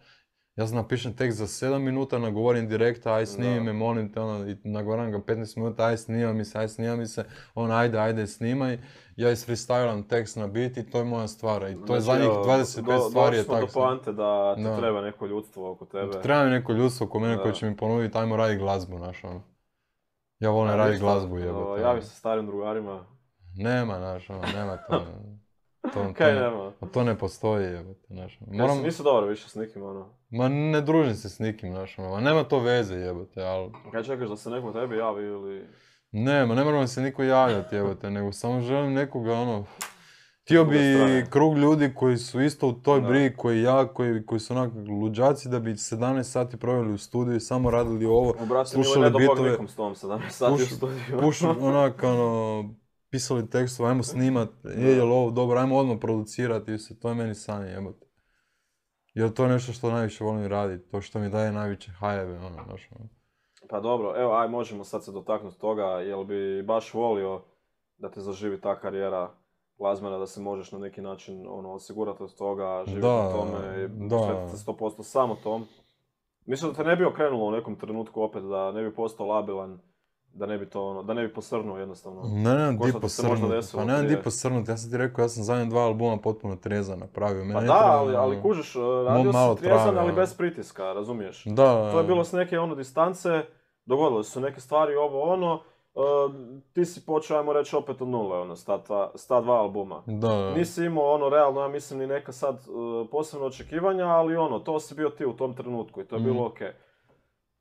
Ja sam napišem tekst za sedam minuta, nagovorim direkta, aj snimi Da. me, molim te, ono, i nagovorim ga petnaest minuta, aj snima mi se, aj snima mi se, on ajde, ajde, snimaj, ja isfreestylam tekst na beat i to je moja stvar, i to je Znači, zadnjih evo, dvadeset pet do- stvari je došli smo tako. do poante da ti Da. treba neko ljudstvo oko tebe. Treba mi neko ljudstvo oko mene Da. koje će mi ponuditi, ajmo raditi glazbu, znaš, ono. Ja volim A raditi ništa, glazbu, o, jebote. Javi se starim drugarima. Nema, znaš, ono, nema to. To, Kaj to, nema? a to ne postoji, jebote, znaš. Moram... Moram, Nisu dobro više s nikim, ono. ma ne družim se s nikim, znaš, ono, ma nema to veze, jebote, ali... Kaj čekaš da se neko tebi javi ili... Ne, ma ne moram se niko javljati, jebote, nego samo želim nekoga, ono... Htio bi Druga strana. krug ljudi koji su isto u toj Da. brigi, koji ja, koji, koji su onak luđaci, da bi sedamnaest sati proveli u studiju i samo radili ovo, U bratu, nije slušali ne do Bog bitove, nikom s tom sedamnaest sati u puš- studiju. pušu, onak, ono, pisali tekstove, ajmo snimat, je, jel ovo dobro, ajmo odmah producirati, i se, to je meni san, jebote. Jer to je nešto što najviše volim raditi, to što mi daje najveće hajeve, ono, znaš, ono. Pa dobro, evo, aj možemo sad se dotaknuti toga, jel bi baš volio da te zaživi ta karijera glazbena, da se možeš na neki način ono, osigurati od toga, živjeti Da, u tome, da. posvetiti se sto posto samo tom. Mislim da te ne bi okrenulo u nekom trenutku opet, da ne bi postao labilan, da ne bi to ono, da ne bi posrnuo jednostavno. Ne, nemam Ko di što ti se možda posrnut, desilo pa nemam di prije. posrnut, ja sam ti rekao, ja sam zadnje dva albuma potpuno trezan napravio. Mene Pa ne da, treba, ali, ali ono, kužiš, radio malo si trijezan, trave, ali ono. bez pritiska, razumiješ? Da, To je bilo s neke ono distance, dogodile su neke stvari, ovo ono, uh, ti si počeo, ajmo reći, opet od nule, ono, sta, dva, sta dva albuma. da, Nisi imao ono, realno, ja mislim, ni neka sad uh, posebno očekivanja, ali ono, to si bio ti u tom trenutku i to je Mm. bilo okej.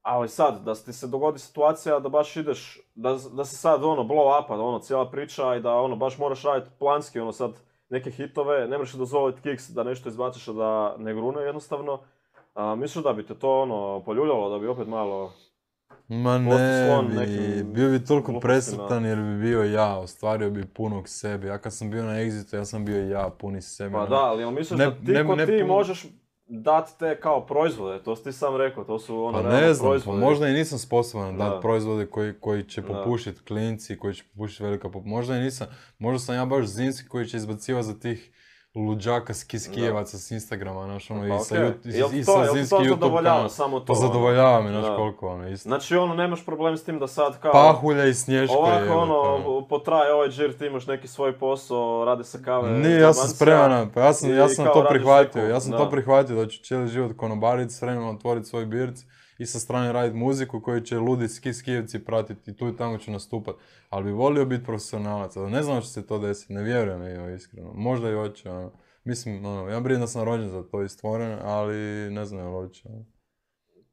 Ali sad, da ti se dogodi situacija da baš ideš, da, da se sad ono, blow upa, ono, cijela priča i da ono, baš moraš raditi planski, ono, sad, neke hitove, ne možeš dozvoliti kiks da nešto izbaciš, a da ne grune jednostavno. A, misliš da bi te to ono, poljuljalo, da bi opet malo... ma posto ne sklon bi, nekim bio bi toliko glupostima. presretan jer bi bio ja, ostvario bi punog sebe. Ja kad sam bio na Exitu, ja sam bio ja, puni sebe. Pa ono. da, ali jel misliš Ne- da ti ne- ko ne ti pun- možeš dati te kao proizvode, to si ti sam rekao, to su ono Pa realno ne znam, pa proizvode. možda i nisam sposoban Da. dati proizvode koji, koji će Da. popušiti klinci, koji će popušiti velika pop... Možda i nisam, možda sam ja baš Zinski koji će izbacivati za tih luđaka skiskijevaca s Instagrama, znaš, ono, Pa i sa, okej. Yout- Jel i to- sa jel ti Zinski to YouTube zadovoljava kanal. samo to, Pa ono? zadovoljava me, znaš Da. koliko, ono, isto. Znači ono, nemaš problem s tim da sad kao... Pahulja i Snješko je, Ovako jebote, ono, potraje ovaj džir, ti imaš neki svoj posao, rade se kave... Nije, ja sam zabancija spreman, pa ja sam, i ja sam kao to radiš prihvatio, neku- ja sam da. to prihvatio da ću cijeli život konobariti, s vremenom otvoriti svoj birc i sa strane raditi muziku koju će ludi ski skijevci pratiti i tu i tamo ću nastupat. Ali bi volio biti profesionalac, ali ne znam da će se to desiti, ne vjerujem evo, iskreno. Možda i hoće, ono. Mislim, ono, ja brinem da sam rođen za to i stvoren, ali ne znam jel hoće. ono.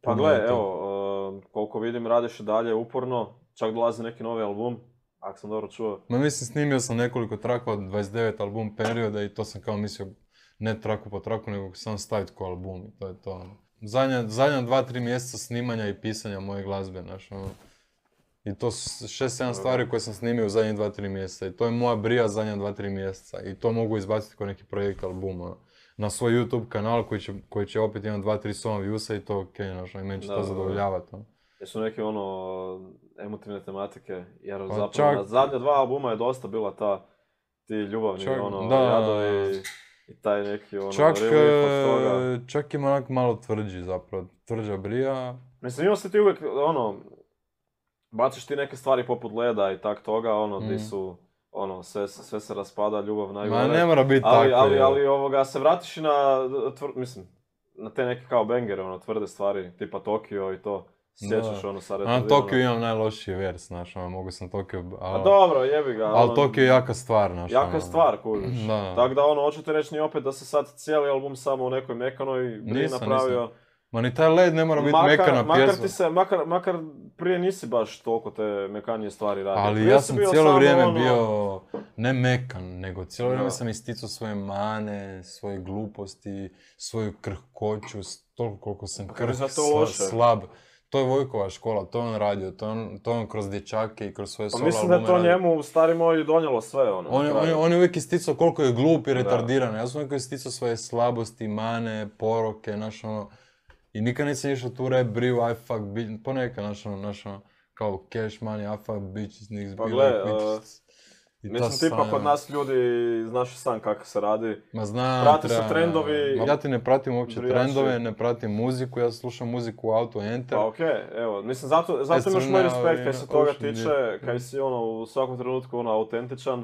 Pa Puno gle, je to. evo, uh, koliko vidim radiš i dalje uporno, čak dolazi neki novi album, ako sam dobro čuo. Ma mislim, snimio sam nekoliko trakova, dvadeset devet album perioda i to sam kao mislio ne traku po traku, nego sam staviti ko album i to je to. ono. Zadnja, zadnja dva, tri mjeseca snimanja i pisanja moje glazbe, znaš, ono. I to su šest, sedam stvari koje sam snimio u zadnjih dva, tri mjeseca. I to je moja brija zadnja dva, tri mjeseca. I to mogu izbaciti kao neki projekt albuma. Na svoj YouTube kanal koji će, koji će opet imati dva, tri soma viewsa i to okej, znaš, ono, i meni će Da, to da, da. zadovoljavati. ono. Jesu neke ono, emotivne tematike, jer Pa zapravo čak- na zadnja dva albuma je dosta bila ta, ti ljubavni, Čak- ono, da. jadovi i taj neki ono, Čak, relief od toga. e, čak ima onak malo tvrđi zapravo, tvrđa brija. Mislim, imao si ti uvijek, ono, baciš ti neke stvari poput leda i tak toga, ono, di Mm. su, ono, sve, sve se raspada, ljubav najgore. Ma ne mora biti ali, tako. ali, evo. ali, ovoga, se vratiš i na, tvr, mislim, na te neke kao bangere, ono, tvrde stvari, tipa Tokio i to. Sjećaš, Da. ono, sa A na retardirano. Tokio imam najlošiji vers, znaš, ono, mogu sam Tokio... Pa ali- dobro, jebi ga. Ali ono, Tokio je jaka stvar, znaš. Jaka ono. stvar, kužiš. Da. Tako da, ono, hoćete reći ni opet da se sad cijeli album samo u nekoj mekanoj bri Nisam, napravio. nisam. Ma ni taj led ne mora biti Makar, mekana makar, pjesma. ti se, makar, makar prije nisi baš toliko te mekanije stvari radio. Ali Prije ja si sam bio cijelo samo vrijeme ono- bio, ne mekan, nego cijelo vrijeme Da. sam isticao svoje mane, svoje gluposti, svoju krhkoću, s- toliko koliko sam Kako krh, je za to sla- loše? slab. To je Vojkova škola, to je on radio, to je on, to je on kroz dječake i kroz svoje Pa solo mislim da je albume to radio. njemu, stari moj, donijelo sve, ono. On, na je- on, je- kraju. on je uvijek isticao koliko je glup i Da. retardiran. Ja sam uvijek isticao svoje slabosti, mane, poroke, znaš ono. I nikad nisam išao tu rap briju, I fuck bitch, ponekad, znaš ono, znaš ono, kao cash money, I fuck bitches, niggas Pa be gle, like bitches. I ta Mislim, tipa sranja, kod ono. nas ljudi, znaš i sam kako se radi. Ma znam, prate se treba- trendovi- Ma ja ti ne pratim uopće Brijači. trendove, ne pratim muziku, ja slušam muziku u auto, enter. Pa okej, evo, mislim, zato, zato Jesi imaš moj na- respekt kaj na se toga Ocean, tiče, je. kaj si ono u svakom trenutku ono autentičan.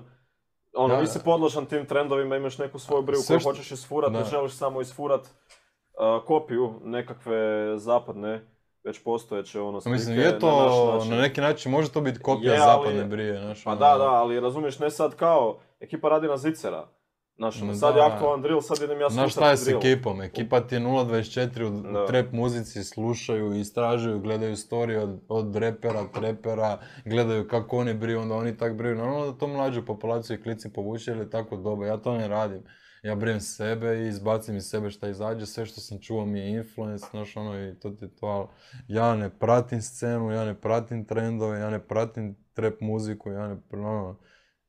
Ono, Da, nisi da. podložan tim trendovima, imaš neku svoju briju Sve koju što- hoćeš isfurat, ne da. želiš samo isfurat uh, kopiju nekakve zapadne, već postojeće ono slike Mislim, je na to, naš način. na neki način može to biti kopija Je, ali- zapadne brije, znaš. Pa ono. da, da, ali razumiješ, ne sad kao, ekipa radi na zicera. Znaš, ono, No sad je da. aktualan drill, sad idem ja Znaš slušati šta je s drill. ekipom? Ekipa ti je nula dvadeset četiri u Da. trap muzici, slušaju, istražuju, gledaju story od, od repera, trepera, gledaju kako oni briju, onda oni tak briju. Normalno da to mlađu populaciju i klici povuče ili tako doba, ja to ne radim. Ja brijem sebe i izbacim iz sebe šta izađe, sve što sam čuo mi je influence, znaš ono i to ti je to, ali ja ne pratim scenu, ja ne pratim trendove, ja ne pratim trap muziku, ja ne, ono,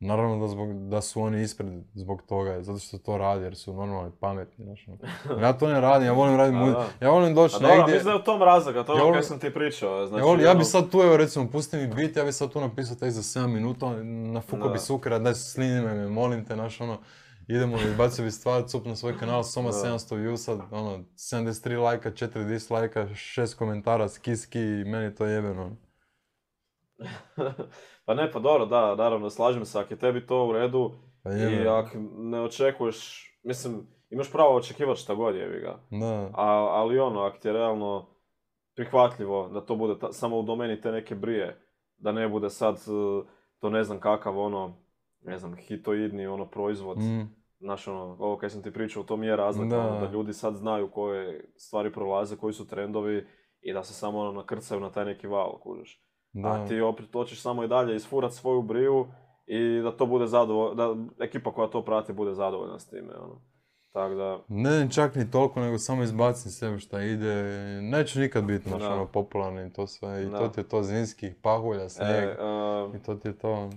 naravno da, zbog, da su oni ispred zbog toga, zato što to radi jer su normalno pametni, znaš ono. Ja to ne radim, ja volim raditi muziku, ja volim doći A dobro, negdje. mislim da je u tom razloga, to je Ja ono volim- kaj sam ti pričao. Znači, Ja, volim, ja ono- bi sad tu, evo recimo, pusti mi beat, ja bi sad tu napisao tek za sedam minuta, nafukao Da. bi sukera, daj slini me, molim te, znaš ono, idemo, izbacio bi stvar, cup na svoj kanal, Soma Da. sedamsto viewsa, ono, sedamdeset tri lajka, četiri dislajka, šest komentara, ski ski, i meni to jebeno. Pa ne, pa dobro, da, naravno, slažem se, ako je tebi to u redu Pa i jebeno. ako ne očekuješ, mislim, imaš pravo očekivati šta god jebi ga. Da. A, ali ono, ako ti je realno prihvatljivo da to bude ta- samo u domeni te neke brije, da ne bude sad uh, to ne znam kakav ono, ne znam, hitoidni ono proizvod. Mm. Znaš ono, ovo kaj sam ti pričao, to mi je razlika, Da. ono, da ljudi sad znaju koje stvari prolaze, koji su trendovi i da se samo ono nakrcaju na taj neki val, kužiš. Da. A ti opet hoćeš samo i dalje isfurat svoju briju i da to bude zadovoljno, da ekipa koja to prati bude zadovoljna s time, ono. Tako da, Ne čak ni toliko, nego samo izbacim sebe šta ide. Neću nikad biti naš Da. ono popularni i to sve. I Da. to ti je to zimskih pahulja, snijeg. e, uh, I to ti je to.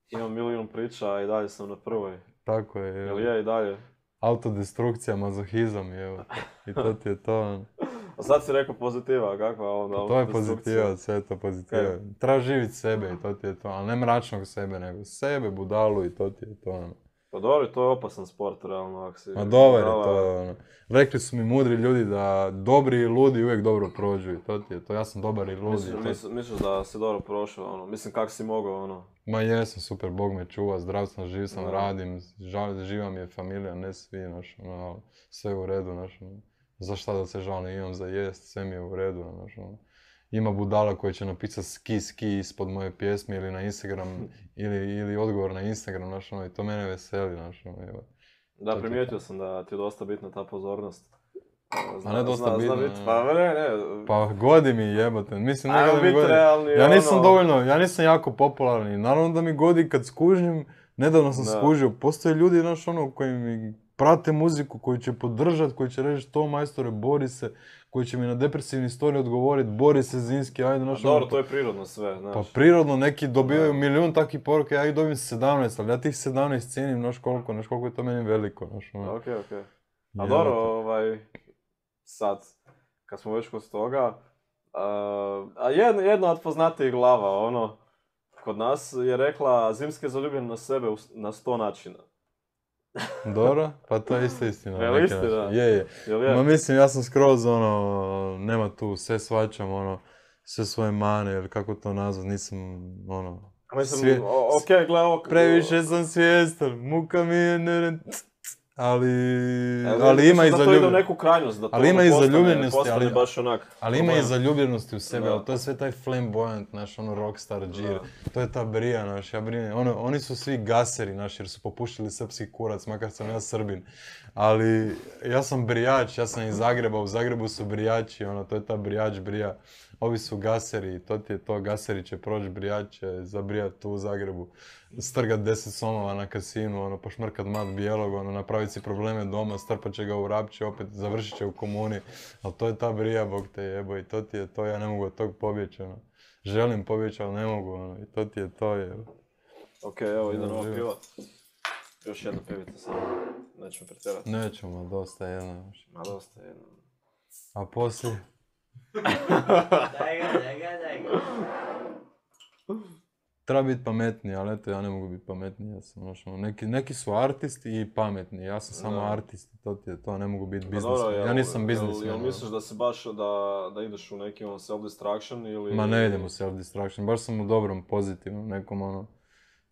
imam milijun priča, a i dalje sam na prvoj. Tako je. Jel je. je i dalje? Autodestrukcija, mazohizam, evo. I to ti je to. A sad si rekao pozitiva, kakva onda? To je autodestrukcija? pozitiva, sve je to pozitiva. Kaj? Treba živjeti sebe i to ti je to. Ali ne mračnog sebe, nego sebe, budalu i to ti je to. ono. Pa dobro, to je opasan sport, realno, ako si... Ma dobar je budala. to. ono. Rekli su mi mudri ljudi da dobri i ludi uvijek dobro prođu i to ti je to. Ja sam dobar i ludi. Misliš, i to- misliš, misliš da si dobro prošao, ono, mislim kak si mogao, ono. Ma jesam, super, Bog me čuva, zdrav sam, živ sam, Da. radim, žal, živa mi je familija, ne svi, znaš, ono, ali sve je u redu, znaš, ono. Za šta da se žalim, imam za jest, sve mi je u redu, znaš, ono. Ima budala koji će napisati ski ski ispod moje pjesme ili na Instagram, ili, ili odgovor na Instagram, znaš, ono, i to mene veseli, znaš, ono, evo. Da, To ti- primijetio sam da ti je dosta bitna ta pozornost. A ne dosta zna, bitna, Zna bit, ne. pa ne, ne. Pa godi mi jebote, mislim Ajmo nekada mi bit godi. realni, Ja nisam ono. dovoljno, ja nisam jako popularni, naravno da mi godi kad skužim, nedavno sam Da. skužio, postoje ljudi, znaš ono, koji mi prate muziku, koji će podržat, koji će reći to majstore, bori se, koji će mi na depresivni story odgovoriti, bori se Zinski, ajde, A znaš dobro, ono, to je prirodno sve, znaš. pa prirodno neki dobivaju Da. milijun takvih poruka, ja ih dobijem sedamnaest, ali ja tih sedamnaest cijenim, znaš koliko, znaš koliko je to meni veliko, znaš ono. Okej, okej. A Jebote. dobro, ovaj, sad, kad smo već kod toga, a, a jedna, jedna od poznatijih glava, ono, kod nas je rekla Zimski je zaljubljen na sebe u s- na sto načina. Dobro, pa to je isto istina. na Jel neki istina? način. Je, je. Jel je? Ma mislim, ja sam skroz ono, nema tu, sve svačam, ono, sve svoje mane, ili kako to nazvat, nisam, ono, Mislim, svije- o- okej, gle, ovo... previše sam svjestan, muka mi je ne... ali, Evo, ali ima i mislim da to ide u zaljubljenosti. neku krajnost, da to Ali ima ono i postane- zaljubljenosti, postane ali- baš onak... Ali ima i problem. zaljubljenosti u sebe, Da. ali to je sve taj flamboyant, naš, ono, rockstar džir. To je ta brija, naš, ja brinem. Ono, oni su svi gaseri, naš, jer su popušili srpski kurac, makar sam ja Srbin. Ali ja sam brijač, ja sam iz Zagreba, u Zagrebu su brijači, ono, to je ta brijač brija. Ovi su gaseri, to ti je to, gaseri će proći, brijač će zabrijat tu u Zagrebu. Strgat deset somova na kasinu, ono, pošmrkat mat bijelog, ono, napravit si probleme doma, strpat će ga u Rapće, opet završit će u komuni. Ali to je ta brija, Bog te jebo, i to ti je to, ja ne mogu od tog pobjeći, ono. Želim pobjeći, ali ne mogu, ono, i to ti je to, jebo. Okej, evo, ide Ja, nova živo. piva. Još jedna pivica samo, nećemo pretjerati. Nećemo, dosta jedno još. Ma dosta je jedno. A poslije? Daj ga, daj ga, daj ga. Treba biti pametniji, ali eto, ja ne mogu biti pametniji, ja sam, znaš, ono, neki, neki su artisti i pametni, ja sam samo Da. artist, to ti je to, ne mogu biti Pa dobro, biznismen, jel- ja nisam jel- biznismen. Jel ono. misliš da se baš da, da ideš u neki on self-destruction ili... Ma ne idem u self-destruction, baš sam u dobrom, pozitivnom, nekom ono,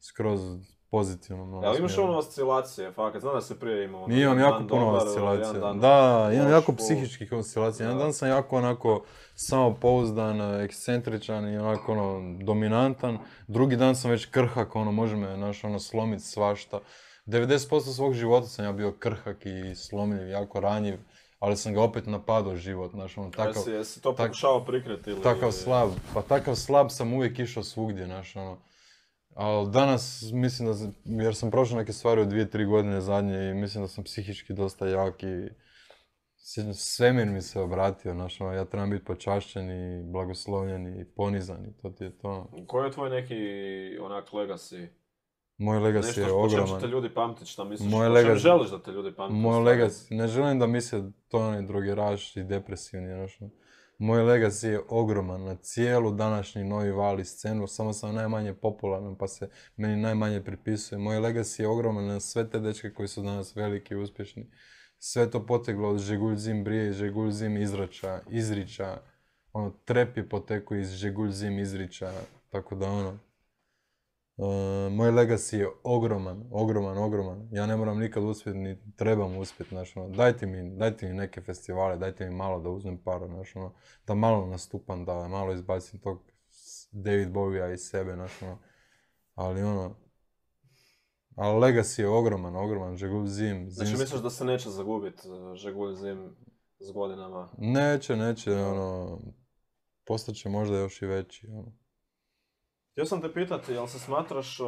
skroz pozitivnom. ono, Jel imaš smjeru. ono oscilacije, fakat, znam da se prije imao. ono, Imam jedan jako dan puno dobar, oscilacija. jedan dan Da, imam loš, jako full. psihičkih oscilacija. Jedan Da. dan sam jako onako samopouzdan, ekscentričan i onako ono dominantan. Drugi dan sam već krhak, ono može me naš ono slomit svašta. devedeset posto svog života sam ja bio krhak i slomljiv, jako ranjiv, ali sam ga opet napadao život, znaš, ono, takav, Jesi, jesi to tak- pokušao prikriti ili... takav slab, pa takav slab sam uvijek išao svugdje, znaš, ono. Ali danas mislim da, sam- jer sam prošao neke stvari u dvije, tri godine zadnje i mislim da sam psihički dosta jak i sjećam se, svemir mi se obratio, znaš, ono, ja trebam biti počašćen i blagoslovljen i ponizan i to ti je to. Koji je tvoj neki onak legacy? Moj legacy Nešto je po čem će te ogroman. ljudi pamtit, šta misliš? Moj Po čem legacy- želiš da te ljudi pamte? Moj u stvari? legacy, ne želim da misle to onaj drogeraš i depresivni, znaš, ono. Moj legacy je ogroman na cijelu današnji novi val i scenu, samo sam najmanje popularan pa se meni najmanje pripisuje. Moj legacy je ogroman na sve te dečke koji su danas veliki i uspješni. Sve to poteglo od Žegulj Zim Brije, Žegulj Zim Izrača, Izriča, ono, trep je potekao iz Žegulj Zim Izriča, tako da ono, Uh, moj legacy je ogroman, ogroman, ogroman. Ja ne moram nikad uspjeti, ni trebam uspjeti, znaš, ono, dajte mi, dajte mi neke festivale, dajte mi malo da uzmem para, znaš, ono, da malo nastupam, da malo izbacim tog s- David Bowie-a iz sebe, znaš, ono, ali ono, ali legacy je ogroman, ogroman, Žegulj Zim, Znači Zimski. misliš da se neće zagubit uh, Žegulj Zim s godinama? Neće, neće, ono, postaće možda još i veći, ono. Htio sam te pitati, jel se smatraš uh,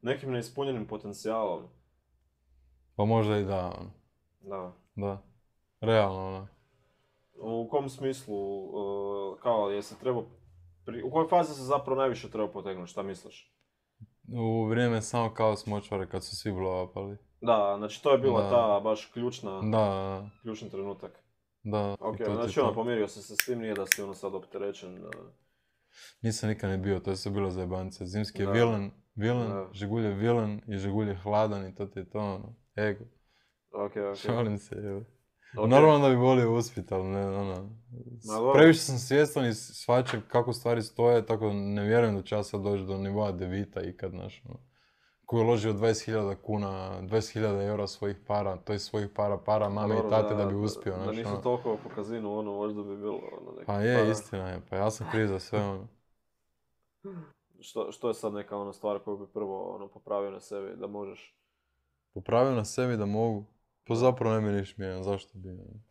nekim neispunjenim potencijalom? Pa možda i da, ono, Da. da, realno, ono. U kom smislu, uh, kao, jesi trebao, pri... u kojoj fazi se zapravo najviše treba potegnuti, šta misliš? U vrijeme samo kaos močvare kad su svi blowupali. Da, znači to je bila Da. ta baš ključna, Da, ključni trenutak. da. Ok, i to ti znači je ono, to. pomirio si se s tim, nije da si ono sad opterećen. uh, Nisam nikad ni bio, to je sve bilo zajebance. Zimski je Da. vilen, vilen, Da. Žigulj je vilen i Žigulj je hladan i to ti je to, ono, ego. Ok, ok. Šalim se, evo. Ok. Normalno da bi volio uspjeti, ali ne, ono, Ma dobro. previše sam svjestan i shvaćam kako stvari stoje, tako ne vjerujem da će ja sad doći do nivoa Devita ikad, znaš, ono. Koji je uložio dvadeset hiljada kuna, dvadeset hiljada eura svojih para, to je svojih para, para mame Dobro, i tate da bi uspio, Da znaš, nisu ono. toliko po kazinu, ono, možda bi bilo ono neki Pa je, para. istina je, pa ja sam kriv za sve, ono. Što, što je sad neka ona stvar koju bi prvo ono, popravio na sebi, da možeš? Popravio na sebi da mogu, pa Da. zapravo ne bi ništa mijenjao, zašto bi, ono.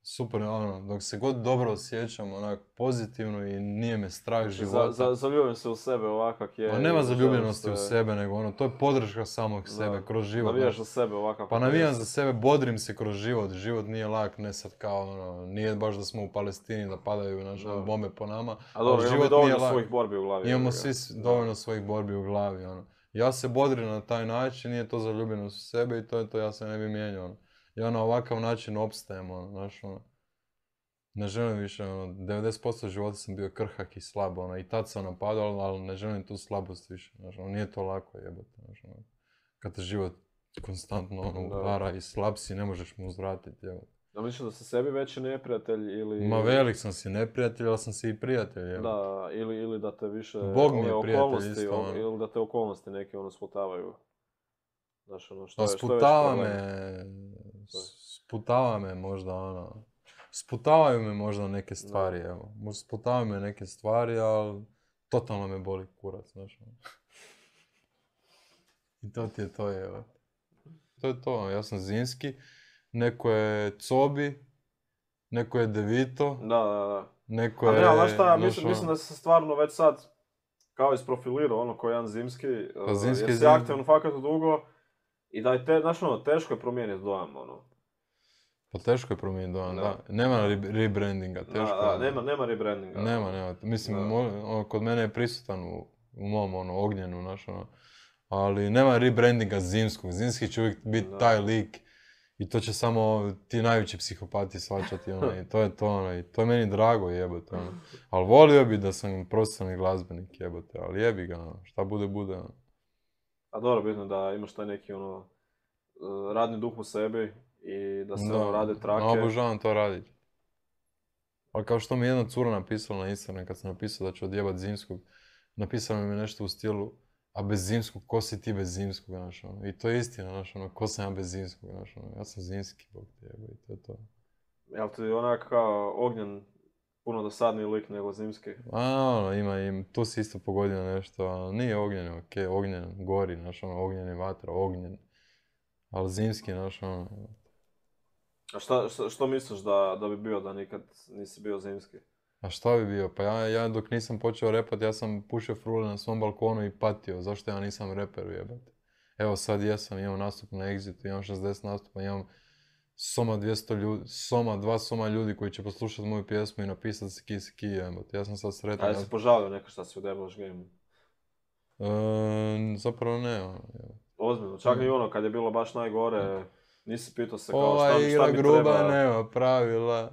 Super, ono, dok se god dobro osjećam, onak, pozitivno i nije me strah života. Za, za, zaljubim se u sebe ovakav kak je. Pa i nema želim zaljubljenosti u se- sebe, nego ono, to je podrška samog Da. sebe, kroz život. Navijaš znaš. za sebe ovakav Pa kakav navijam jesi. za sebe, bodrim se kroz život, život nije lak, ne sad kao ono, nije baš da smo u Palestini, da padaju naše Da. bombe po nama, A dobro, ali imamo život i dovoljno nije lak. svojih borbi u glavi. Imamo jebi ga. svi s- Da. dovoljno svojih borbi u glavi, ono. Ja se bodrim na taj način, nije to zaljubljenost u sebe i to je to, ja se ne bi mijenjao, ono. Ja na ovakav način opstajem, ono, znaš, ono. Ne želim više, ono, devedeset posto života sam bio krhak i slab, ono, i tad sam napadao, ali ne želim tu slabost više, znaš, ono, nije to lako jebote, znaš, ono. Kad te život konstantno, ono, Da. udara i slab si, ne možeš mu uzvratiti, jebote. Da misliš da si sebi veći neprijatelj ili... Ma velik sam si neprijatelj, ali sam si i prijatelj, jebote. Da, ili, ili da te više Bog mi je ove prijatelj okolnosti, isto, o- ono. ili da te okolnosti neke ono sputavaju. Znaš, ono, što Pa je, što je veći sputava problem? me, sputava me možda ono, sputavaju me možda neke stvari, evo. Možda sputavaju me neke stvari, ali totalno me boli kurac, znaš. ono. I to ti je to, evo. To je to, ja sam Zimski, neko je Cobi, neko je Devito, Da, da, da. neko Ali je... ne, ali znaš šta, ja znaš, mislim, ono, mislim da si se stvarno već sad kao isprofilirao ono ko jedan zimski, Pa uh, zimski jer si zim- aktivan fakat dugo i da je te, znaš ono, teško je promijeniti dojam, ono. Pa teško je promijeniti dojam, Da. da. Nema re- rebrandinga, teško Da, da, je. nema, nema rebrandinga. Nema, nema. Mislim, Da. mo- ono, kod mene je prisutan u, u mom ono, ognjenu, znaš, ono. Ali nema rebrandinga zimskog. Zimski će uvijek biti Da. taj lik i to će samo ti najveći psihopati shvaćati, ono, i to je to, ono, i to je meni drago, jebote, ono. Ali volio bi da sam profesionalni glazbenik, jebote, ali jebi ga, ono, šta bude, bude, ono. A dobro, bitno da imaš taj neki ono, uh, radni duh u sebi i da se Da, ono, rade trake. no, obožavam to raditi. Ali kao što mi je jedna cura napisala na Instagram kad sam napisao da ću odjebat zimskog, napisala mi je nešto u stilu, a bez zimskog, ko si ti bez zimskog, znaš, ono. I to je istina, znaš, ono, ko sam ja bez zimskog, znaš, ono. Ja sam zimski, bog te jebe, i to je to. Jel ti onak kao ognjen puno dosadniji lik nego Zimski. A, ono, ima, im, tu si isto pogodio nešto, ali nije ognjen, okej, ognjen, gori, znaš, ono, ognjeni vatra, ognjen. Ali Zimski, znaš, ono... A šta, šta, što misliš da, da bi bio da nikad nisi bio Zimski? A šta bi bio? Pa ja, ja dok nisam počeo repat, ja sam pušio frule na svom balkonu i patio. Zašto ja nisam reper, jebate? Evo sad jesam, imam nastup na Exitu, imam šezdeset nastupa, imam soma dvjesto ljudi, soma, dva soma ljudi koji će poslušat moju pjesmu i napisat Siki Siki, jebate. Ja sam sad sretan. A jesi požalio neka šta si u Devil's Game? E, zapravo ne, ono, jebate. Ozbiljno, čak i ono kad je bilo baš najgore, nisi pitao se kao Ova šta, igra šta mi gruba treba. nema pravila.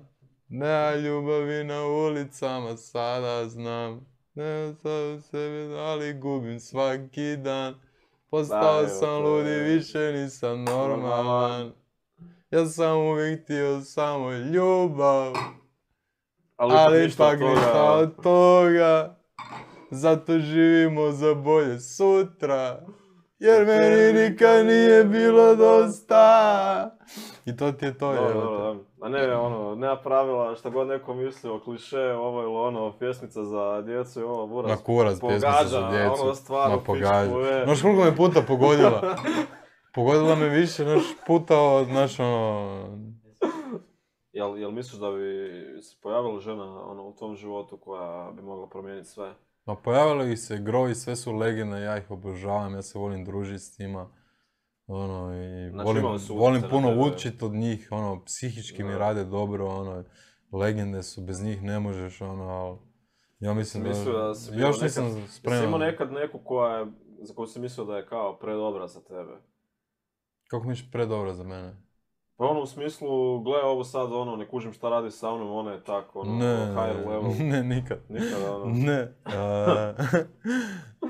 Nema ljubavi na ulicama, sada znam. Ne sam u sebi, ali gubim svaki dan. Postao Da, sam evo, to ludi, je- više nisam normalan. Normalan. Ja sam uvijek htio samo ljubav, Ali, ali ništa ipak od ništa toga. od toga. Zato živimo za bolje sutra. Jer meni nikad nije bilo dosta. I to ti je to, Dobro, evo dobro, te. dobro. A ne, ono, nema pravila, šta god neko mislio, kliše, ovo ili ono, pjesmica za djecu i ovo, buraz. Ma kurac, pjesmica pogađa, za djecu. ono, stvarno, Ma pogađa. pičku, je. Znaš koliko me puta pogodila? Pogodila me više, znaš, puta od, znaš, ono... Jel, jel misliš da bi se pojavila žena ono, u tom životu koja bi mogla promijeniti sve? Ma pojavili ih se grovi, sve su legende, ja ih obožavam, ja se volim družiti s njima. Ono, i Znači, volim, imali su volim utjecaj na puno tebe. učit od njih, ono, psihički mi Da. rade dobro, ono, legende su, bez njih ne možeš, ono, ali... Ja mislim da... Mislio da si bio Još nekad- nisam Jesi imao spreman. nekad neku koja je, za koju si mislio da je kao predobra za tebe? Kako misliš predobra za mene? Pa ono u smislu, gle ovo sad ono, ne kužim šta radi sa mnom, ona je tako, ono, Ne, higher level. ne, nikad. Nikada, ono. Ne, a,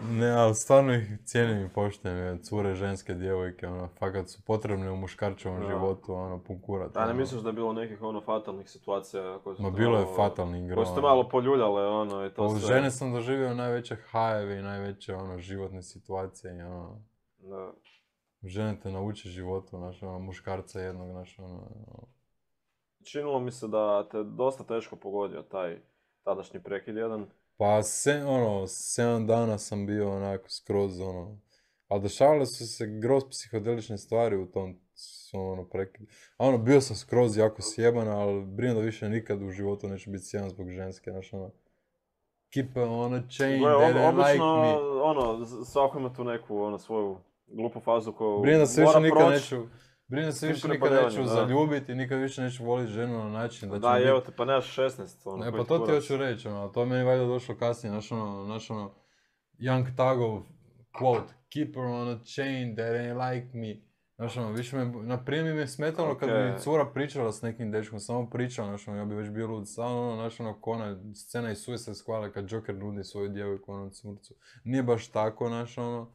ne, ali stvarno ih cijenim i poštujem, jer cure, ženske, djevojke, ono, fakat su potrebne u muškarčevom Da. životu, ono, pun kurat. A ne ono. misliš da je bilo nekih ono fatalnih situacija koje su Ma te bilo je malo- fatalnih igra. koje su te malo poljuljale, ono, i to U sve. žene sam doživio najveće hajeve i najveće, ono, životne situacije i, ono, Da. žene te nauče životu, znaš, ono, muškarca jednog, znaš, ono, ono, Činilo mi se da te dosta teško pogodio taj tadašnji prekid jedan. pa se, ono, sedam dana sam bio onako skroz, ono, ali dešavale su se groz psihodelične stvari u tom, svom, ono, prekidu. A ono, bio sam skroz jako sjeban, ali brinem da više nikad u životu neću biti sjeban zbog ženske, znaš, ono, keep on a chain, Gle, they ob- don't like obično, me. ono, z- svako ima tu neku, ono, svoju glupu fazu koju Brinem da se više mora nikad proći. neću, brinem da se tim više nikad prepadanjem, neću da. zaljubiti i nikad više neću voliti ženu na način da će Da, mi evo biti... te, pa nemaš šesnaest, ono, E, koji pa to ti kurac. hoću reći, ono, to je meni valjda došlo kasnije, znaš ono, znaš ono, Young Thugov quote, keep her on a chain, that ain't like me. Znaš ono, više me, na primjer mi je smetalo kad Okej. bi cura pričala s nekim dečkom, samo pričala, znaš ono, ja bi već bio lud, samo ono, znaš ono, ko ona scena iz Suicide Squada kad Joker nudi svoju djevojku onom cmurcu. Nije baš tako, znaš ono,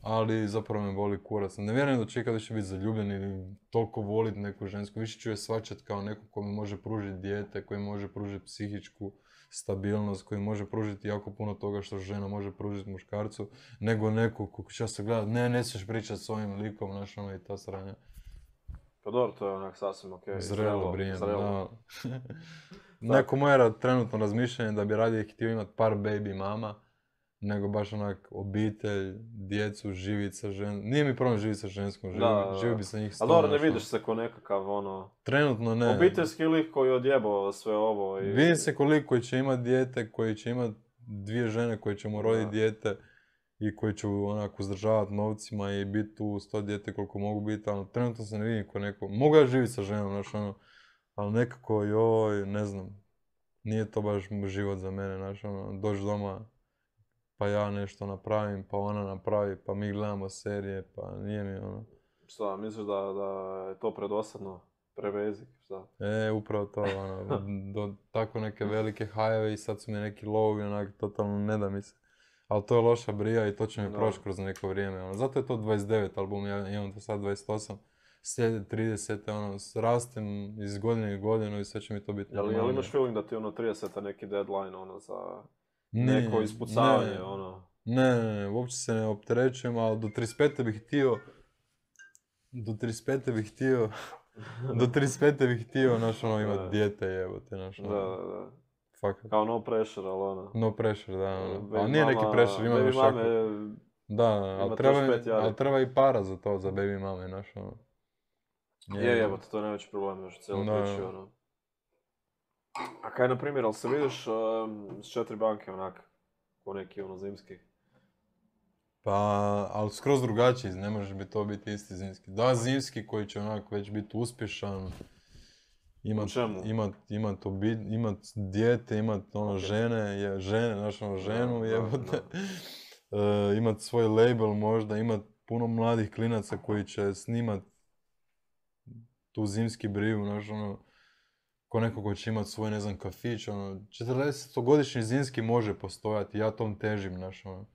ali zapravo me boli kurac. Ne vjerujem da ću ikad više biti zaljubljen ili toliko volit neku žensku, više ću je shvaćat kao neko ko mi može pružiti dijete, koji može pružiti psihičku stabilnost, koji može pružiti jako puno toga što žena može pružiti muškarcu, nego neko ko će se gledat, ne, ne smiješ pričat s ovim likom, znaš ono, i ta sranja. Pa dobro, to je onak sasvim okej. Zrelo, brijem, zrelo. da. Neko moje trenutno razmišljanje da bi radije htio imat par baby mama, nego baš onak obitelj, djecu, živit sa ženskom. Nije mi problem živit sa ženskom, živi, Da, da, da. živi bi sa njih A sto. dobro, ne znaš, ono. vidiš se ko nekakav, ono, Trenutno ne. obiteljski lik koji je odjebao sve ovo i... Vidim se koliko koji će imat dijete, koji će imat dvije žene koje će mu roditi Da. dijete i koji će onako uzdržavat novcima i biti tu uz to dijete koliko mogu biti, ali trenutno se ne vidim ko neko. Mogu ja živjeti sa ženom, znaš ono, ali nekako joj, ne znam, nije to baš život za mene, znaš ono, doći doma, pa ja nešto napravim, pa ona napravi, pa mi gledamo serije, pa nije mi ono. Šta, misliš da, da je to predosadno? Prevezik, šta? E, upravo to, ono, do tako neke velike hajeve i sad su mi neki lovovi, onak, totalno ne da mi se. Ali to je loša brija i to će mi Da. proći kroz neko vrijeme, ono. Zato je to dvadeset devet album, ja imam to sad dvadeset osam, slijede trideset, ono, rastem iz godine u godinu i sve će mi to biti Jel, jel normalnije. imaš feeling da ti ono trideset neki deadline, ono, za Ne, neko ispucavanje, ne. ono? Ne, ne, ne, uopće se ne opterećujem, ali do trideset pete bih htio, do trideset pete bih htio, do trideset pete bih htio, znaš ono, Da. imat dijete, jebote, znaš Da, ono. da, da. fakat. Kao no pressure, ali ono. No pressure, da, ono. Baby Ali nije neki mama- pressure, ima baby još mame, jako... Da, ali ima treba, trideset pet jari. ali treba i para za to, za baby mame, znaš, ono. Je, je, to je najveći problem još u cijeloj Da. priči, ono. A kaj, na primjer, ali se vidiš um, s četiri banke, onak, ko neki, ono, zimski? Pa, ali skroz drugačiji, ne može bi to biti isti zimski. Da, zimski koji će onak već biti uspješan, imat, U čemu? imat, imat, obi, imat dijete, imat ono Ok. žene, je, žene, znaš ono ženu, Da, da, jebote. E, imat svoj label možda, imat puno mladih klinaca koji će snimat tu zimski briju, znaš ono, ko neko ko će imat svoj, ne znam, kafić, ono, četrdesetogodišnji zimski može postojati, ja tom težim, znaš ono.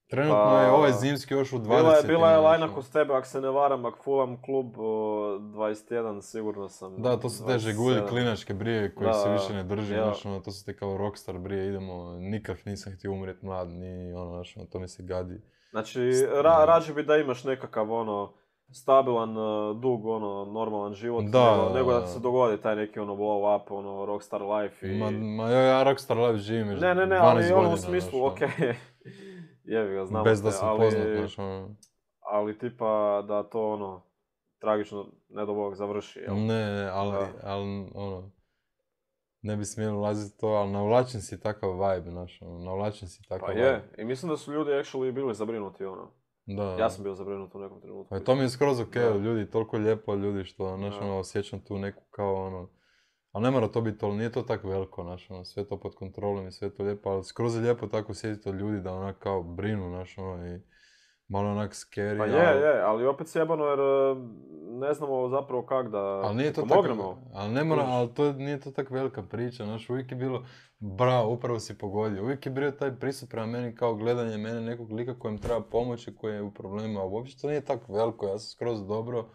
Trenutno Pa, je ovaj zimski još u Bila je, dvadesetima. bila je znaš, lajna ono. kod tebe, ako se ne varam, ako Fulham klub o, dvadeset jedan, sigurno sam. Da, to su te dvadeset žegulje sedam. klinačke brije koji Da, se više ne drži, ja. znaš, ono, to su te kao rockstar brije, idemo, nikak nisam htio umrijet mlad, ni ono, znaš, ono, to mi se gadi. Znači, ra, rađe bi da imaš nekakav, ono, stabilan, uh, dug, ono, normalan život, Da, nego, nego da da. ti se dogodi taj neki, ono, blow up, ono, rockstar life i... Ma, ma ja, ja rockstar life živim još ne, ne, ne, dvanaest ali ono godina, u smislu, znaš, ono, okej, jebi ga, znamo bez da te, sam ali, poznat, znaš, ono. ali tipa da to, ono, tragično, ne do Bog, završi, jel? Ne, ne, ali, Da. ali, ono, ne bi smjeli ulaziti to, ali navlačen si takav vibe, znaš, ono, navlačen si takav Pa vibe. je, i mislim da su ljudi actually bili zabrinuti, ono. Da. Ja sam bio zabrinut u nekom trenutku. Pa i to mi je skroz ok, Da. ljudi, toliko lijepo ljudi što, znaš, Da. ono, osjećam tu neku kao, ono, ali ne mora to biti, ali nije to tako veliko, znaš, ono, sve to pod kontrolom i sve to lijepo, ali skroz je lijepo tako osjetiti od ljudi da onak kao brinu, znaš, ono, i malo onak scary, Pa ali, je, je, ali opet sjebano jer e, ne znamo zapravo kak da ali nije to pomognemo. tako, ali ne mora, Kužiš? ali to nije to tako velika priča, znaš, uvijek je bilo, bravo, upravo si pogodio, uvijek je bio taj pristup prema meni kao gledanje mene nekog lika kojem treba pomoći, koji je u problemima, a uopće to nije tako veliko, ja sam skroz dobro,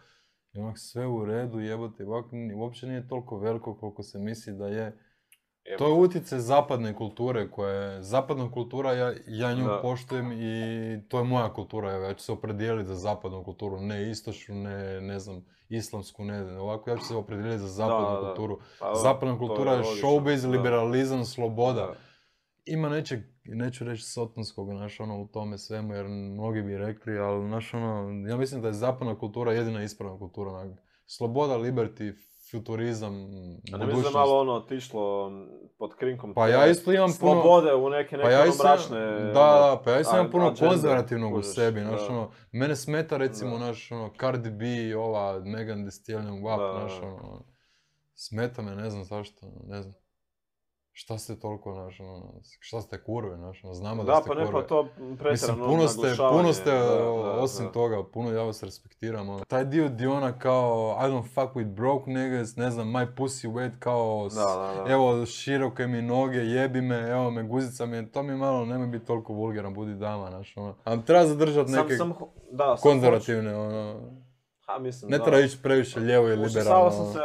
i onak sve u redu, jebote, ovak, ni- uopće nije toliko veliko koliko se misli da je. To je utjecaj zapadne kulture koja je, zapadna kultura, ja, ja nju Da. poštujem i to je moja kultura, evo, ja ću se opredijeliti za zapadnu kulturu, ne istočnu, ne, ne znam, islamsku, ne, ovako ja ću se opredijeliti za zapadnu Da, da. kulturu. Pa, Zapadna to kultura je logično, showbiz, da. liberalizam, sloboda. Da. Ima nečeg, neću reći sotonskog, znaš, ono, u tome svemu, jer mnogi bi rekli, ali, znaš, ono, ja mislim da je zapadna kultura jedina ispravna kultura, onak, sloboda, liberty, futurizam, A ne mislim da budućnost. je malo ono otišlo pod krinkom Pa te ja isto imam puno... slobode u neke, neke Pa ja ono isto, mračne... da, ono, da, pa ja isto imam a- puno agende, konzervativnog u kužiš, sebi, znaš, da. ono, mene smeta recimo, Da. znaš, ono, Cardi B, ova, Megan Thee Stallion, W A P, Da. znaš, ono, smeta me, ne znam zašto, ne znam. Šta ste toliko, znaš, ono, šta ste kurve, znaš, ono, znamo da, Da, ste pa ne, kurve. pa to Mislim, pretjerano puno ste, naglašavanje, puno ste, da, da, osim da. toga, puno ja vas respektiram, ono. Taj dio di ona kao, I don't fuck with broke niggas, ne znam, my pussy wet, kao, s- Da, da, da. evo, široke mi noge, jebi me, evo me, guzica mi, je- to mi malo, nemoj biti toliko vulgaran, budi dama, znaš, ono. A treba zadržati Sam, neke sam, ho- da, sam konzervativne, ono, hoću- Ha, mislim, ne da. treba ići previše lijevo i Užasavao liberalno. sam se,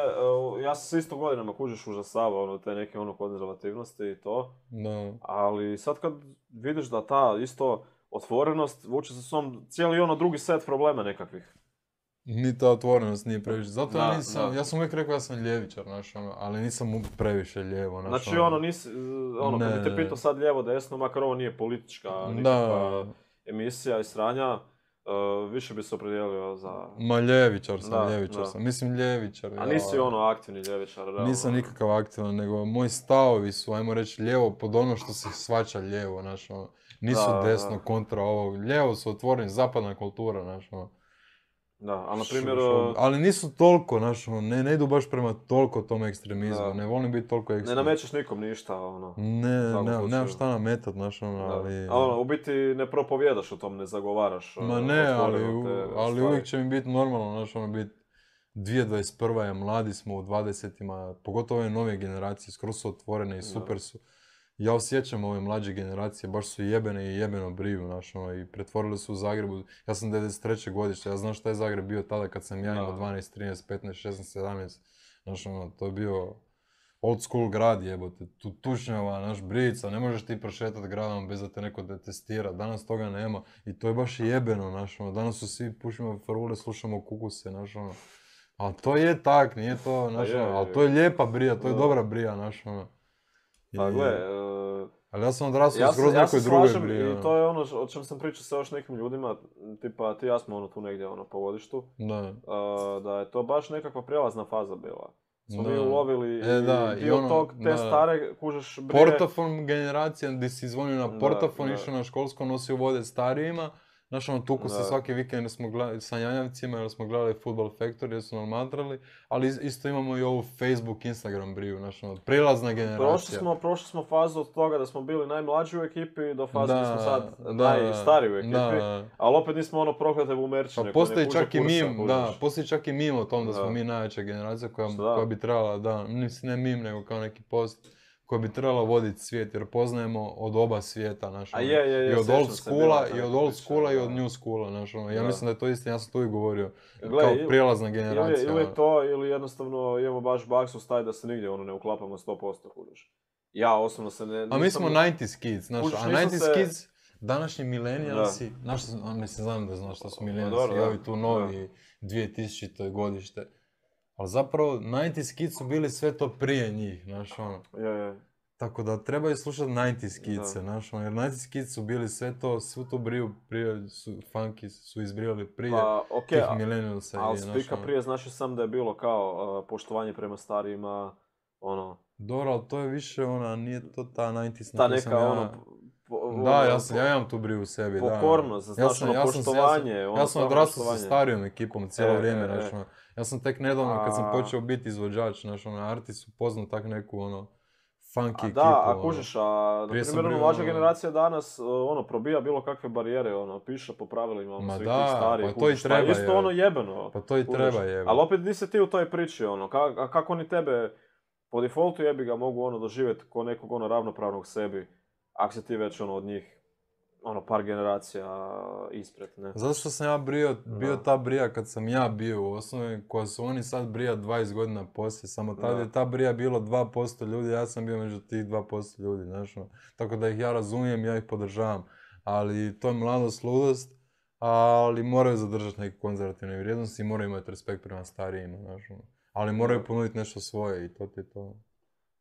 uh, ja sam se isto godinama kužiš užasavao, ono, te neke ono konzervativnosti i to. Da. Ali sad kad vidiš da ta isto otvorenost vuče sa sobom cijeli ono drugi set problema nekakvih. Ni ta otvorenost nije previše, zato ja Da, nisam, da. ja sam uvijek rekao ja sam ljevičar, znaš, ono, ali nisam u- previše lijevo, znaš, Znači ono, nisi, ono, Ne, kad bi te ne, pitao ne. sad lijevo desno, makar ovo nije politička Da. nikakva emisija i sranja, uh, više bi se opredijelio za... Ma ljevičar sam, Da, ljevičar da. sam, mislim ljevičar. A ja. nisi ono aktivni ljevičar, realno. Nisam nikakav aktivan, nego moji stavovi su, ajmo reći, lijevo pod ono što se shvaća lijevo, znaš, ono. Nisu Da, desno da. kontra ovog, lijevo su otvoreni, zapadna kultura, znaš, ono. Da, ali na primjer... Šo- ali nisu toliko, znaš, ono, ne, ne idu baš prema toliko tom ekstremizmu, Da. ne volim biti toliko Ne ekstremizam. namećeš nikom ništa, ono. Ne, svakom ne, slučaju. nemam šta nametat, znaš, ono, Da. ali... A ono, u biti ne propovjedaš o tom, ne zagovaraš. Ma uh, ne, ali, otvoreno u- te ali stvari. uvijek će mi biti normalno, znaš, ono, biti dvije tisuće dvadeset prva je, mladi smo u dvadesetima, pogotovo ove nove generacije, skroz su otvorene i super su. Ja osjećam ove mlađe generacije, baš su jebene i jebeno briju, znaš, ono, i pretvorili su u Zagrebu, ja sam devedeset treće godište, ja znam šta je Zagreb bio tada kad sam ja imao Da. dvanaest, trinaest, petnaest, šesnaest, sedamnaest, znaš, ono, to je bio old school grad, jebote, tu tučnjava, naš brica, ne možeš ti prošetati gradom bez da te neko detestira, danas toga nema i to je baš jebeno, znaš, ono, danas su svi pušimo farule, slušamo kukuse, znaš, ono, ali to je tak, nije to, znaš, je, ono, ali je. to je lijepa brija, to je Da. dobra brija, znaš, ono. Pa I- gle, e, Ali ja sam odrastao ja u skroz se, ja nekoj se drugoj slažem bri, i ono. to je ono o čem sam pričao sa još nekim ljudima, tipa ti i ja smo ono tu negdje ono po godištu, Da. e, da je to baš nekakva prijelazna faza bila. Smo mi Da. ulovili E, da, i i dio ono, tog, te da. stare, kužeš, brije. Portafon generacija, gdje si zvonio na Da, portafon, da. išao na školsko, nosio vode starijima. Znaš, ono, tuku se Da. svaki vikend jer smo gledali sa janjavcima, jer smo gledali Football Factory, jer su nam matrali, ali is- isto imamo i ovu Facebook, Instagram briju, znaš, ono, prijelazna generacija. Prošli smo, prošli smo fazu od toga da smo bili najmlađi u ekipi do faze da, Da, smo sad da, najstariji u ekipi, da. ali opet nismo ono proklete bumerčine. Pa koje ne postoji kuže čak i kursa, mim, kužiš. da, postoji čak i mim o tom da smo Da. mi najjača generacija koja, Šta? koja bi trebala, da, mislim ne mim, nego kao neki post, koja bi trebala voditi svijet, jer poznajemo od oba svijeta, znaš, A ono, je, je, je, i od sjećam old se, schoola, bila je i od neka old priča, schoola i da. od new schoola, znaš, ono, ja Da. mislim da je to istina, ja sam tu i govorio, Gle, kao ili- prijelazna Ili, generacija. ili ono. to, ili jednostavno imamo baš baksu taj da se nigdje ono ne uklapamo sto posto, kužiš. Ja osobno se ne... A mi smo nineties kids, znaš, Kužiš, a nisam nineties se- kids, današnji milenijalsi, Da. znaš, a mislim, znam da znaš što su Pa milenijalsi, dobro, i da. ovi tu novi dvije tisućite godište. Ali zapravo, nineties kids su bili sve to prije njih, znaš, ono. Je, je. Tako da trebaju slušati nineties kids, Da. znaš, ono, jer nineties kids su bili sve to, svu tu briju prije, su, funky su izbrijali prije Pa, okej, tih a- millennialsa. ali i, znaš, spika ono. prije znači sam da je bilo kao uh, poštovanje prema starijima, ono, Dobro, ali to je više ona, nije to ta nineties na ta koju sam neka ja... ono... po- Da, ono, ja, sam, po- ja imam tu briju u sebi, da. Pokornost, znaš, ono, ja sam, poštovanje, Ja sam, ono, ja sam stvarno odrastao sa poštovanje. starijom ekipom cijelo E, vrijeme, e, znaš, e. ono. Ja sam tek nedavno, kad sam A- počeo biti izvođač, znaš, ono, artist, upoznao tak neku, ono, funky A ekipu. da, a ono. kužiš, a na Prije sam primjer, ono, bio, mlađa ono- generacija danas, uh, ono, probija bilo kakve barijere, ono, piše po pravilima, ono, Ma svih da, tih starijih, pa to i kužiš, treba, isto je. ono jebeno. Pa to i kužiš. treba, je. Ali opet nisi ti u toj priči, ono, ka- a kako oni tebe po defaultu jebi ga mogu, ono, doživjeti ko nekog, ono, ravnopravnog sebi, ako si ti već, ono, od njih, ono, par generacija ispred, ne? Zato što sam ja bio, bio Da. ta brija kad sam ja bio u osnovi, koja su oni sad brija dvadeset godina poslije, samo tad Da. je ta brija bilo dva posto ljudi, ja sam bio među tih dva posto ljudi, znaš, ono. Tako da ih ja razumijem, ja ih podržavam, ali to je mladost, ludost, ali moraju zadržati neke konzervativne vrijednosti i moraju imati respekt prema starijima, znaš, ono. Ali moraju Da. ponuditi nešto svoje i to ti je to.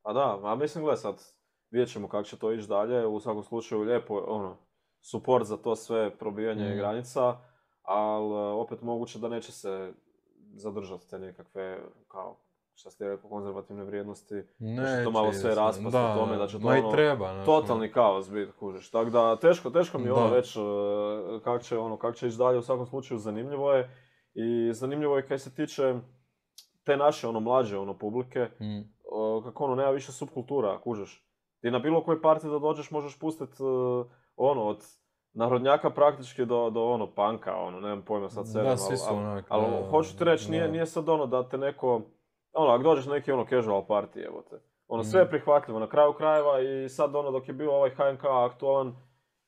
A da, a mislim, gle sad, vidjet ćemo kako će to ići dalje, u svakom slučaju lijepo, ono, support za to sve probijanje Mm. granica, ali opet moguće da neće se zadržati te nekakve, kao, šta ste rekao, konzervativne vrijednosti, da će to Neće malo sve ići, raspast da, u tome, da će to ma i ono, treba, znaš, totalni kaos biti, kužiš. Tako da, teško, teško mi je ono Da. već kako će, ono, kak će ići dalje, u svakom slučaju zanimljivo je. I zanimljivo je kaj se tiče te naše, ono, mlađe, ono, publike, Mm. o, kako ono, nema više subkultura, kužiš. Ti na bilo koji parti da dođeš možeš pustiti, ono, od narodnjaka praktički do, do ono, panka, ono, nemam pojma sad sedam, Da, svi su ali, onak, ali, da, hoću ti reći, nije, da. nije sad ono da te neko, ono, ako dođeš na neki ono casual party, evo te. Ono, sve je Mm. prihvatljivo na kraju krajeva i sad ono, dok je bio ovaj H N K aktualan,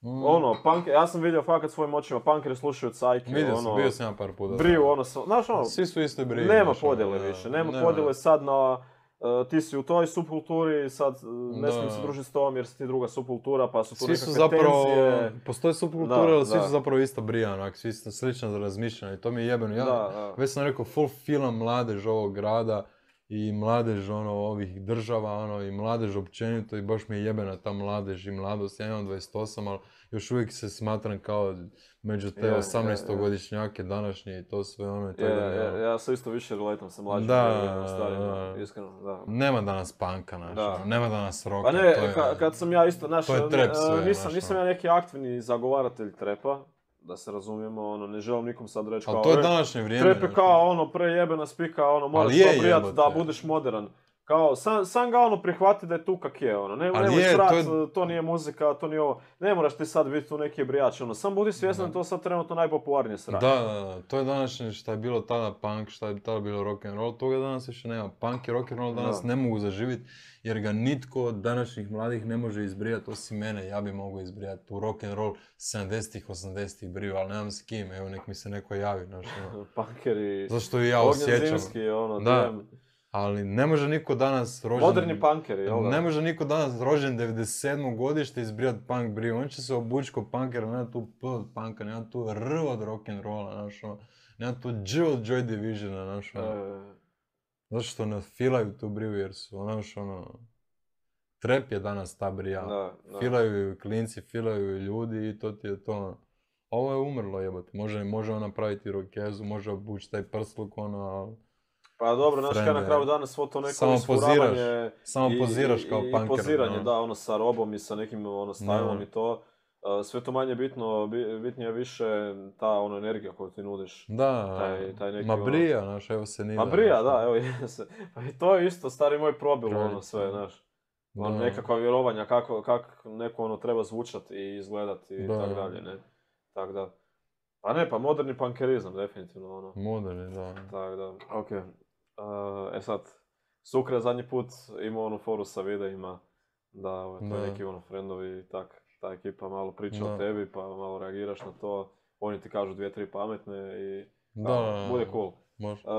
Mm. ono, punk, ja sam vidio fakat svojim očima, punkeri slušaju cajke, Vidio ono, sam, bio sam ja par puta. briju, ono, sa- znaš ono, Svi su isto briju. nema znaš, ono, podjele da. više, nema, Nema. podjele sad na, uh, ti si u toj subkulturi, sad uh, ne Da. smijem se družiti s tom jer si ti druga subkultura, pa su tu Svi su nekakve zapravo, tenzije. postoje subkulture, Da, ali svi da. su zapravo isto brija, onak, svi su slično za razmišljanje i to mi je jebeno. Ja, Da, da. već sam rekao, full film mladež ovog grada i mladež ono, ovih država, ono, i mladež općenito i baš mi je jebena ta mladež i mladost. Ja imam dvadeset osam, ali još uvijek se smatram kao među te Je, je, je. osamnaestogodišnjake današnje i to sve ono. i tako Je, da, ja, ono, ja se isto više relatam sa mlađim Da, nego starijima, da. iskreno, da. Nema danas panka, znaš, Da. ono, nema danas roka. Pa ne, to je- ka- kad sam ja isto, znaš, to je trap e, sve, nisam, znaš, nisam ono. ja neki aktivni zagovaratelj trepa, da se razumijemo, ono, ne želim nikom sad reći kao, Ali to je "E, današnje vrijeme. trep je znaš, kao ono prejebena spika, ono moraš Ali je to prijat da jebote. budeš modern. Kao, sam, sam ga ono prihvati da je tu kak je, ono, ne, Ali nemoj je, srat, to to, je- nije muzika, to nije ovo, ne moraš ti sad biti tu neki brijač, ono, sam budi svjestan da je to sad trenutno najpopularnije sranje. Da, da, da, to je današnje šta je bilo tada punk, šta je tada bilo rock and roll, toga danas više nema. Punk i rock and roll danas Da. ne mogu zaživjeti jer ga nitko od današnjih mladih ne može izbrijati osim mene, ja bi mogao izbrijati u rock and roll sedamdesetih, osamdesetih briju, ali nemam s kim, evo nek mi se neko javi, znaš, ono. Punkeri, Zašto i ja Ognjen osjećam. Zimski, ono, Da. damn. Ali ne može niko danas rođen... Moderni punkeri, jel da? Ne može niko danas rođen devedeset sedmog godište izbrijat punk briju. On će se obući ko punkera, nema tu P od punka, nema tu R od rock'n'rolla, znaš, ono. Nema tu J od Joy Divisiona, znaš, ono. E, Zato što ne filaju tu briju jer su, znaš, ono... Trap je danas ta brija. Da, da. Filaju ju klinci, filaju ju ljudi i to ti je to. Ovo je umrlo jebote. Može, može on napraviti rokezu, može obući taj prsluk, ono, ali... Pa dobro, znaš kaj Frende, na kraju dana svo to neko samo isfuravanje poziraš, samo i- poziraš i- kao i, punker, i poziranje, no. da, ono sa robom i sa nekim ono stylom No. i to. Uh, sve to manje bitno, bi- bitnije je više ta ono energija koju ti nudiš. Da, Taj- taj neki ma ono- brija, znaš, evo se nije. Pa brija, da, evo, se. Pa i to je isto, stari moj probilo ono Kraljica. sve, znaš. Ono, Da. nekakva vjerovanja kako, kako neko ono treba zvučati i izgledati i Da. tako dalje, ne. Tak da. Pa ne, pa moderni punkerizam, definitivno, ono. Moderni, da. Tak da, ok. Uh, e sad, Sukra je zadnji put imao onu foru sa videima, da ovaj, to Da. neki ono friendovi i tak, ta ekipa malo priča Da. o tebi, pa malo reagiraš na to, oni ti kažu dvije, tri pametne i Da, ono, da, da. bude cool. Može. Uh,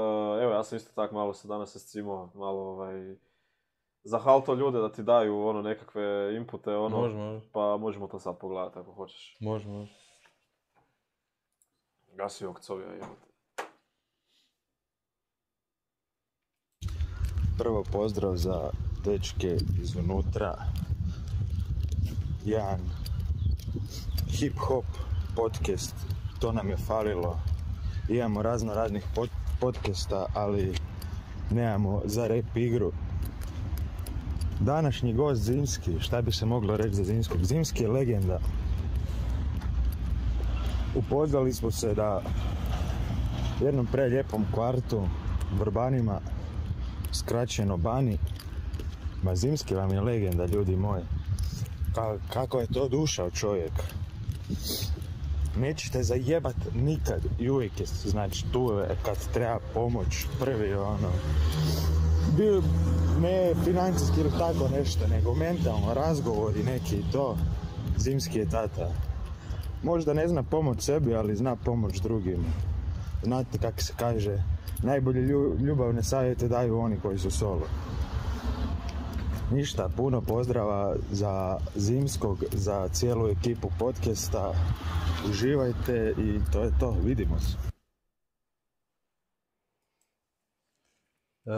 evo, ja sam isto tak malo se danas escimao, malo ovaj, zahalto ljude da ti daju ono nekakve inpute, ono, Može, može. pa možemo to sad pogledati ako hoćeš. Može, može. Gasi okcovija, jebote. Prvo pozdrav za dečke iznutra. Jedan hip-hop podcast, to nam je falilo. Imamo razno raznih pod- podcasta, ali nemamo za rap igru. Današnji gost Zimski, šta bi se moglo reći za Zimskog? Zimski je legenda. Upoznali smo se da u jednom prelijepom kvartu, Vrbanima, skraćeno Bani. Ma Zimski vam je legenda, ljudi moji. Ka- kako je to dušao čovjek. Nećete zajebat nikad i uvijek je, znači, tu je kad treba pomoć, prvi ono. Bio, ne financijski ili tako nešto, nego mentalno, razgovori neki i to. Zimski je tata. Možda ne zna pomoć sebi, ali zna pomoć drugim. Znate kako se kaže, najbolje lju- ljubavne savjete daju oni koji su solo. Ništa, puno pozdrava za Zimskog, za cijelu ekipu podcasta. Uživajte i to je to, vidimo se. E,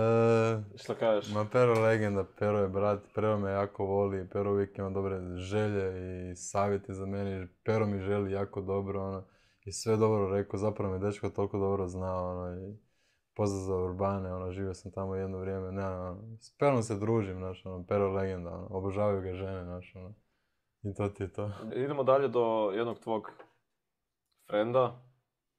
Šta kažeš? ma Pero legenda, Pero je brat, Pero me jako voli, Pero uvijek ima dobre želje i savjeti za mene, Pero mi želi jako dobro, ono, i sve dobro rekao, zapravo me dečko toliko dobro zna, ono, i pozdrav za Urbane, ono, živio sam tamo jedno vrijeme, ne, ono, s Perom se družim, znaš, ono, Pero legenda, ono, obožavaju ga žene, znaš, ono, i to ti je to. Idemo dalje do jednog tvog frenda.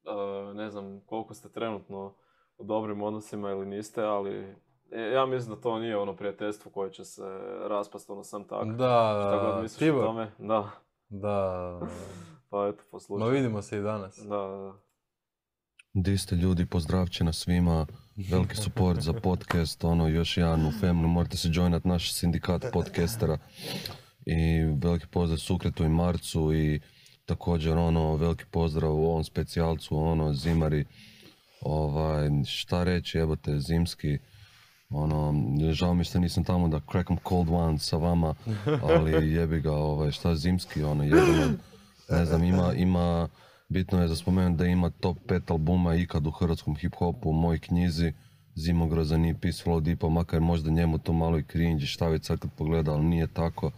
Uh, ne znam koliko ste trenutno u dobrim odnosima ili niste, ali e, ja mislim da to nije ono prijateljstvo koje će se raspast ono sam tako. Da, Šta god da, misliš Tibor, o tome? Da, da, pa eto, ma poslušaj. vidimo se i danas. Da, da, da. Di ste ljudi, pozdravće na svima, veliki support za podcast, ono, još jedan u Femnu, morate se joinat naš sindikat podcastera i veliki pozdrav Sukretu i Marcu i također ono, veliki pozdrav u ovom specijalcu, ono, Zimari, ovaj, šta reći, jebote, Zimski, ono, žao mi što nisam tamo da crack 'em cold one sa vama, ali jebi ga, ovaj, šta Zimski, ono, jebeno, ne znam, ima, ima, bitno je za spomenuti da ima top pet albuma ikad u hrvatskom hip-hopu u mojoj knjizi, Zimogrozan i Peace Flow Deepa, makar možda njemu to malo i cringe, šta već sad kad pogleda, ali nije tako.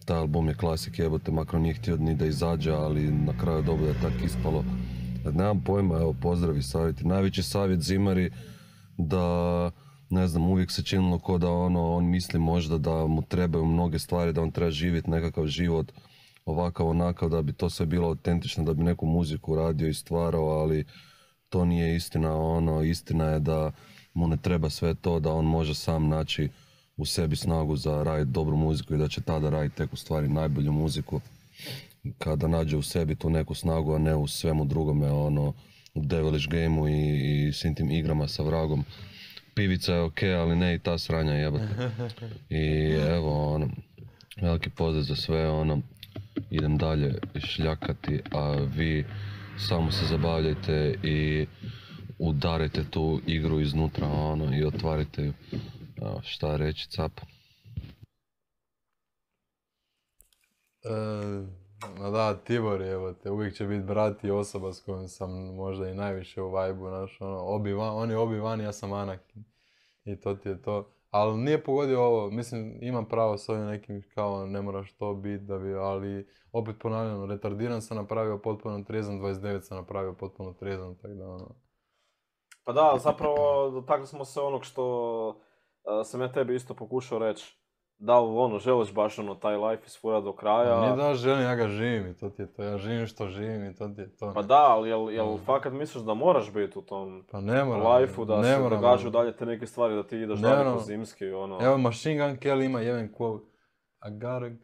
Taj album je klasik, jebote, makar nije htio ni da izađe, ali na kraju dobro je tako ispalo. Nemam pojma, evo, pozdravi, savjeti. Najveći savjet Zimari da, ne znam, uvijek se činilo ko da ono, on misli možda da mu trebaju mnoge stvari, da on treba živjeti nekakav život ovakav, onakav, da bi to sve bilo autentično, da bi neku muziku radio i stvarao, ali to nije istina, ono, istina je da mu ne treba sve to, da on može sam naći u sebi snagu za raditi dobru muziku i da će tada raditi tek u stvari najbolju muziku kada nađe u sebi tu neku snagu, a ne u svemu drugome, ono, u devilish gameu i, i svim tim igrama sa vragom. Pivica je okej, ali ne i ta sranja, jebate. I evo, ono, veliki pozdrav za sve, ono, idem dalje šljakati, a vi samo se zabavljajte i udarite tu igru iznutra, ono, i otvarite ju. Evo, šta reći, cap? E, ma da, Tibor je, evo te, uvijek će biti brat i osoba s kojom sam možda i najviše u vibe-u, znaš, ono, Obi-Wan, on je Obi-Wan, ja sam Anakin. i to ti je to. Ali nije pogodio ovo, mislim, imam pravo s ovim nekim kao ne moraš to biti da bi, ali opet ponavljam, retardiran sam napravio potpuno trijezan, dvadeset devet sam napravio potpuno trijezan, tako da ono... Pa da, zapravo dotakli smo se onog što uh, sam ja tebi isto pokušao reći. Da li ono, želiš baš ono, taj life isfura do kraja? Nije da želim, ja ga živim i to ti je to, ja živim što živim i to ti je to. Pa da, ali jel, jel mm. fakat misliš da moraš biti u tom pa ne moram, life-u, da ne se moram, događaju dalje te neke stvari, da ti ideš ne dalje moram. po zimski, ono... Evo, Machine Gun Kelly ima jedan quote, I gotta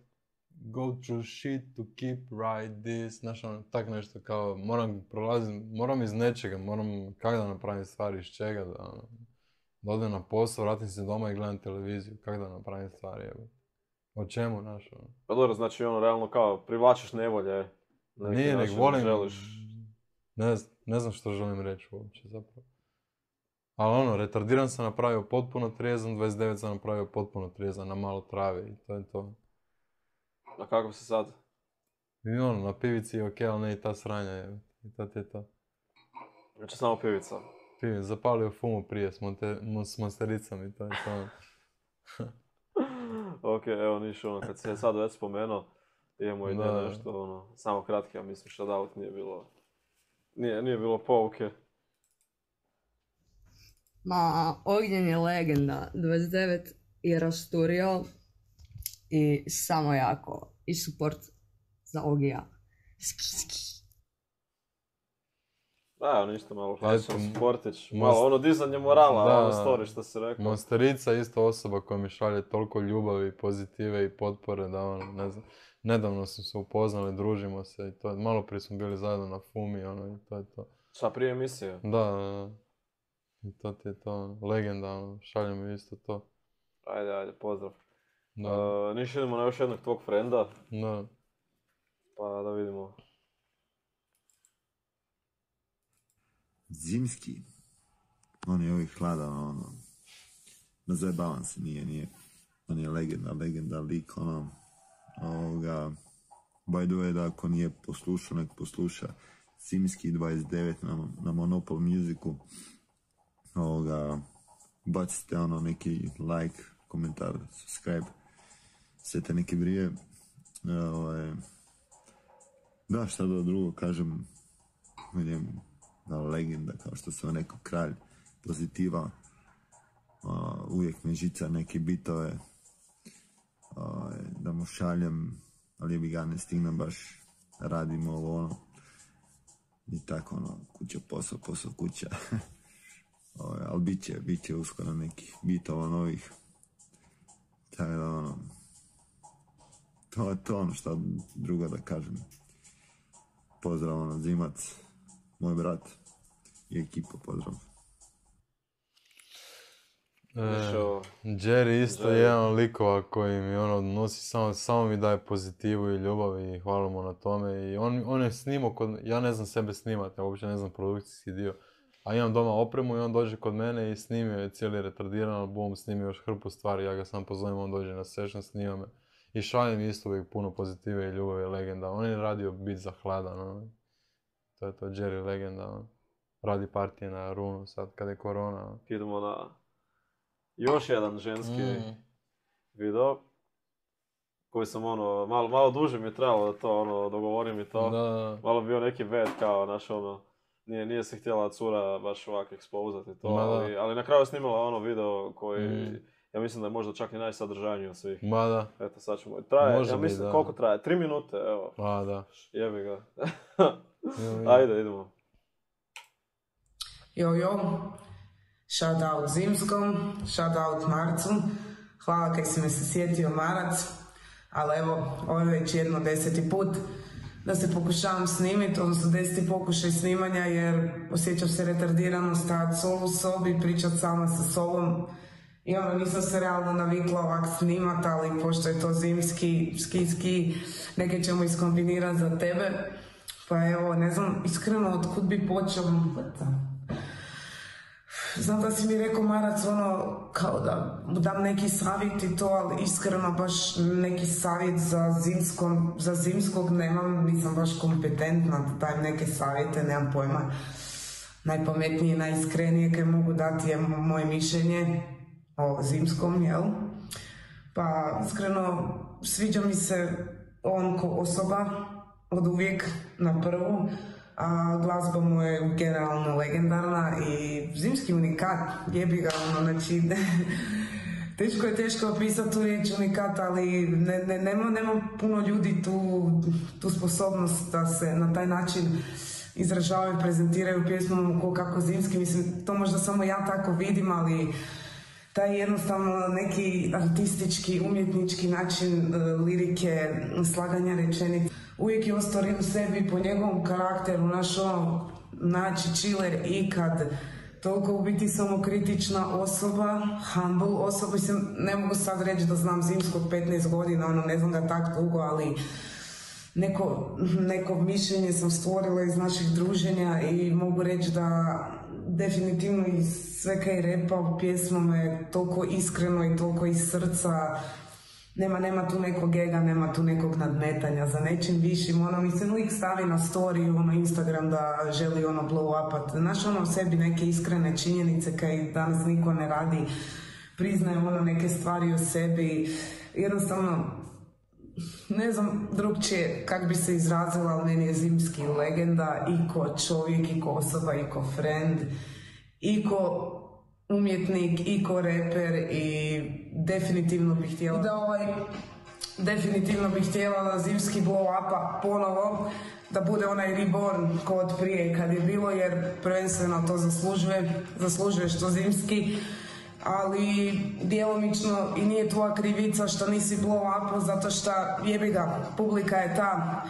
go through shit to keep right this, znaš ono, tak nešto kao, moram prolaziti, moram iz nečega, moram kak da napravim stvari, iz čega da, ono, da odem na posao, vratim se doma i gledam televiziju, kak da napravim stvari, evo. O čemu, znaš, ono? Pa dobro, znači ono, realno kao, privlačiš nevolje. Nije, nek volim, želiš... ne, ne znam što želim reći uopće, zapravo. Ali ono, retardiran sam napravio potpuno trijezan, dvadeset devet sam napravio potpuno trijezan, na malo trave i to je to. A kako si sad? I ono, na pivici je okej, ali ne i ta sranja, je. I to ti je to. Znači samo pivica? Pivica, zapalio fumu prije s, monte, s monstericom i to je to. Ok, evo niš, ono, kad si je sad već spomenuo, imamo i nešto, ono, samo kratke, ja mislim što da nije bilo, nije, nije bilo pouke. Ma, Ognjen je legenda, dvadeset devet je rasturio i samo jako, i support za Ogija. Ski, ski. Da, evo ništa, malo klasičan sportić, malo ono dizanje morala, da, ono story što si rekao. Monstarica je isto osoba koja mi šalje toliko ljubavi, pozitive i potpore da ono, ne znam, nedavno smo se upoznali, družimo se i to, malo prije smo bili zajedno na Fumi, ono, i to je to. Šta, prije emisije? Da, da, i to ti je to, legenda, ono, šalje mi isto to. Ajde, ajde, pozdrav. Da. Uh, niš idemo na još jednog tvog frenda. Da. Pa da vidimo. Zimski, on je uvijek hladan, ono, ne zajebavam se, nije, nije, on je legenda, legenda, lik, ono, ovoga, by the way, da ako nije poslušao, nek posluša Zimski dvadeset devet na, na Monopol Musicu, ovoga, bacite ono neki like, komentar, subscribe, sve te neke brije, ovaj, da, šta da drugo kažem, vidim, da, legenda, kao što sam rekao, kralj pozitiva, uh, uvijek me žica neke bitove, uh, da mu šaljem, ali bi ga ne stignem baš, radimo ovo ono, i tako ono, kuća, posao, posao, kuća, uh, ali bit će, bit će uskoro nekih bitova novih, tako da ono, to je to ono što drugo da kažem, pozdrav ono, Zimac, moj brat i ekipa, pozdrav. E, Jerry isto je jedan od likova koji mi ono nosi, samo, samo mi daje pozitivu i ljubav i hvala mu na tome. I on, on je snimao kod, ja ne znam sebe snimati, ja uopće ne znam produkcijski dio. A imam doma opremu i on dođe kod mene i snimio je cijeli retardiran album, snimio još hrpu stvari, ja ga sam pozovem, on dođe na session, snima me. I šalje mi isto uvijek puno pozitive i ljubavi i legenda. On je radio bit za hladan, ono. To je to, Jerry legenda, ono. Radi partije na Runu sad kad je korona. Ono. Idemo na još jedan ženski mm. video koji sam ono, malo, malo duže mi je trebalo da to ono, dogovorim i to. Da. Malo bio neki vet kao naš ono, nije, nije se htjela cura baš ovako ekspozati to, ali, ali na kraju je snimala ono video koji, mm. ja mislim da je možda čak i najsadržajniji od svih. Ma da. Eto sad ćemo, traje, Može ja mislim bi, koliko traje, tri minute, evo. Ma da. Jebi ga. Ajde, idemo. Jo, jo, shout out Zimskom, shout out Marcu, hvala kaj si me se sjetio Marac, ali evo, ovo je već jedno deseti put da se pokušavam snimiti, odnosno deseti pokušaj snimanja jer osjećam se retardirano stajati solo u sobi, pričat sama sa sobom i ono, nisam se realno navikla ovak snimat, ali pošto je to zimski, ski, ski, neke ćemo iskombinirati za tebe, pa evo, ne znam, iskreno, otkud bi počeo, znam da si mi rekao Marac, ono, kao da dam neki savjet i to, ali iskreno baš neki savjet za, zimskom, za zimskog nemam, nisam baš kompetentna da dajem neke savjete, nemam pojma. Najpametnije, najiskrenije kaj mogu dati je moje mišljenje o Zimskom, jel? Pa, iskreno, sviđa mi se on ko osoba, od uvijek na prvu, a glazba mu je generalno legendarna i Zimski unikat, jebi ga, ono, znači, teško je teško opisati tu riječ unikat, ali ne, ne, nema, nema puno ljudi tu, tu sposobnost da se na taj način izražavaju, prezentiraju pjesmom ko kako Zimski, mislim, to možda samo ja tako vidim, ali taj jednostavno neki artistički, umjetnički način uh, lirike, slaganja rečenica, uvijek je ostao u sebi po njegovom karakteru, naš ono, znači chiller ikad, toliko u biti samokritična osoba, humble osoba, mislim, ne mogu sad reći da znam Zimskog petnaest godina, ono, ne znam ga tak dugo, ali neko, neko mišljenje sam stvorila iz naših druženja i mogu reći da definitivno iz sve kaj repa u pjesmama je toliko iskreno i toliko iz srca. Nema, nema tu nekog ega, nema tu nekog nadmetanja za nečim višim. Ono, mislim, uvijek stavi na story, ono, Instagram da želi ono blow upat. Znaš, ono, u sebi neke iskrene činjenice kaj danas niko ne radi. Priznaje ono neke stvari o sebi. Jednostavno, ne znam drugčije kak bi se izrazila, ali meni je Zimski legenda i ko čovjek, i ko osoba, i ko friend, i ko umjetnik, i ko reper, i definitivno bih htjela da ovaj, definitivno bih htjela da Zimski blow upa ponovo, da bude onaj reborn kod prije kad je bilo, jer prvenstveno to zaslužuje, zaslužuje što Zimski, ali djelomično i nije tvoja krivica što nisi blow upo, zato što jebi ga, publika je ta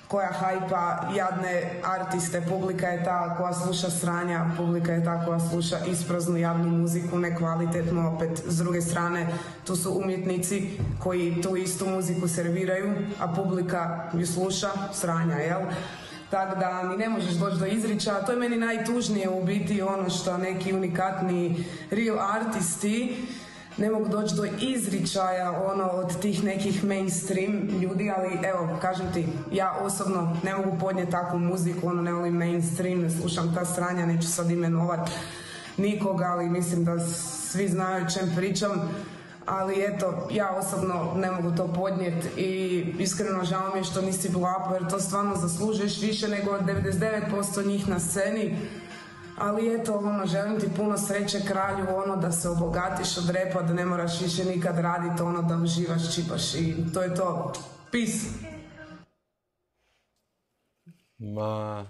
koja hajpa jadne artiste, publika je ta koja sluša sranja, publika je ta koja sluša ispraznu javnu muziku, nekvalitetno, opet s druge strane tu su umjetnici koji tu istu muziku serviraju, a publika ju sluša sranja, jel? Tako da ni ne možeš doći do izričaja, to je meni najtužnije u biti, ono što neki unikatni real artisti ne mogu doći do izričaja ono od tih nekih mainstream ljudi, ali evo, kažem ti, ja osobno ne mogu podnijeti takvu muziku, ono, ne volim mainstream, ne slušam ta sranja, neću sad imenovat nikoga, ali mislim da svi znaju o čem pričam. Ali eto, ja osobno ne mogu to podnijeti i iskreno žao mi je što nisi blow jer to stvarno zaslužuješ više nego devedeset devet posto njih na sceni. Ali eto, ono, želim ti puno sreće kralju, ono, da se obogatiš od repa, da ne moraš više nikad raditi, ono, da uživaš, čipaš i to je to. Peace! Ma...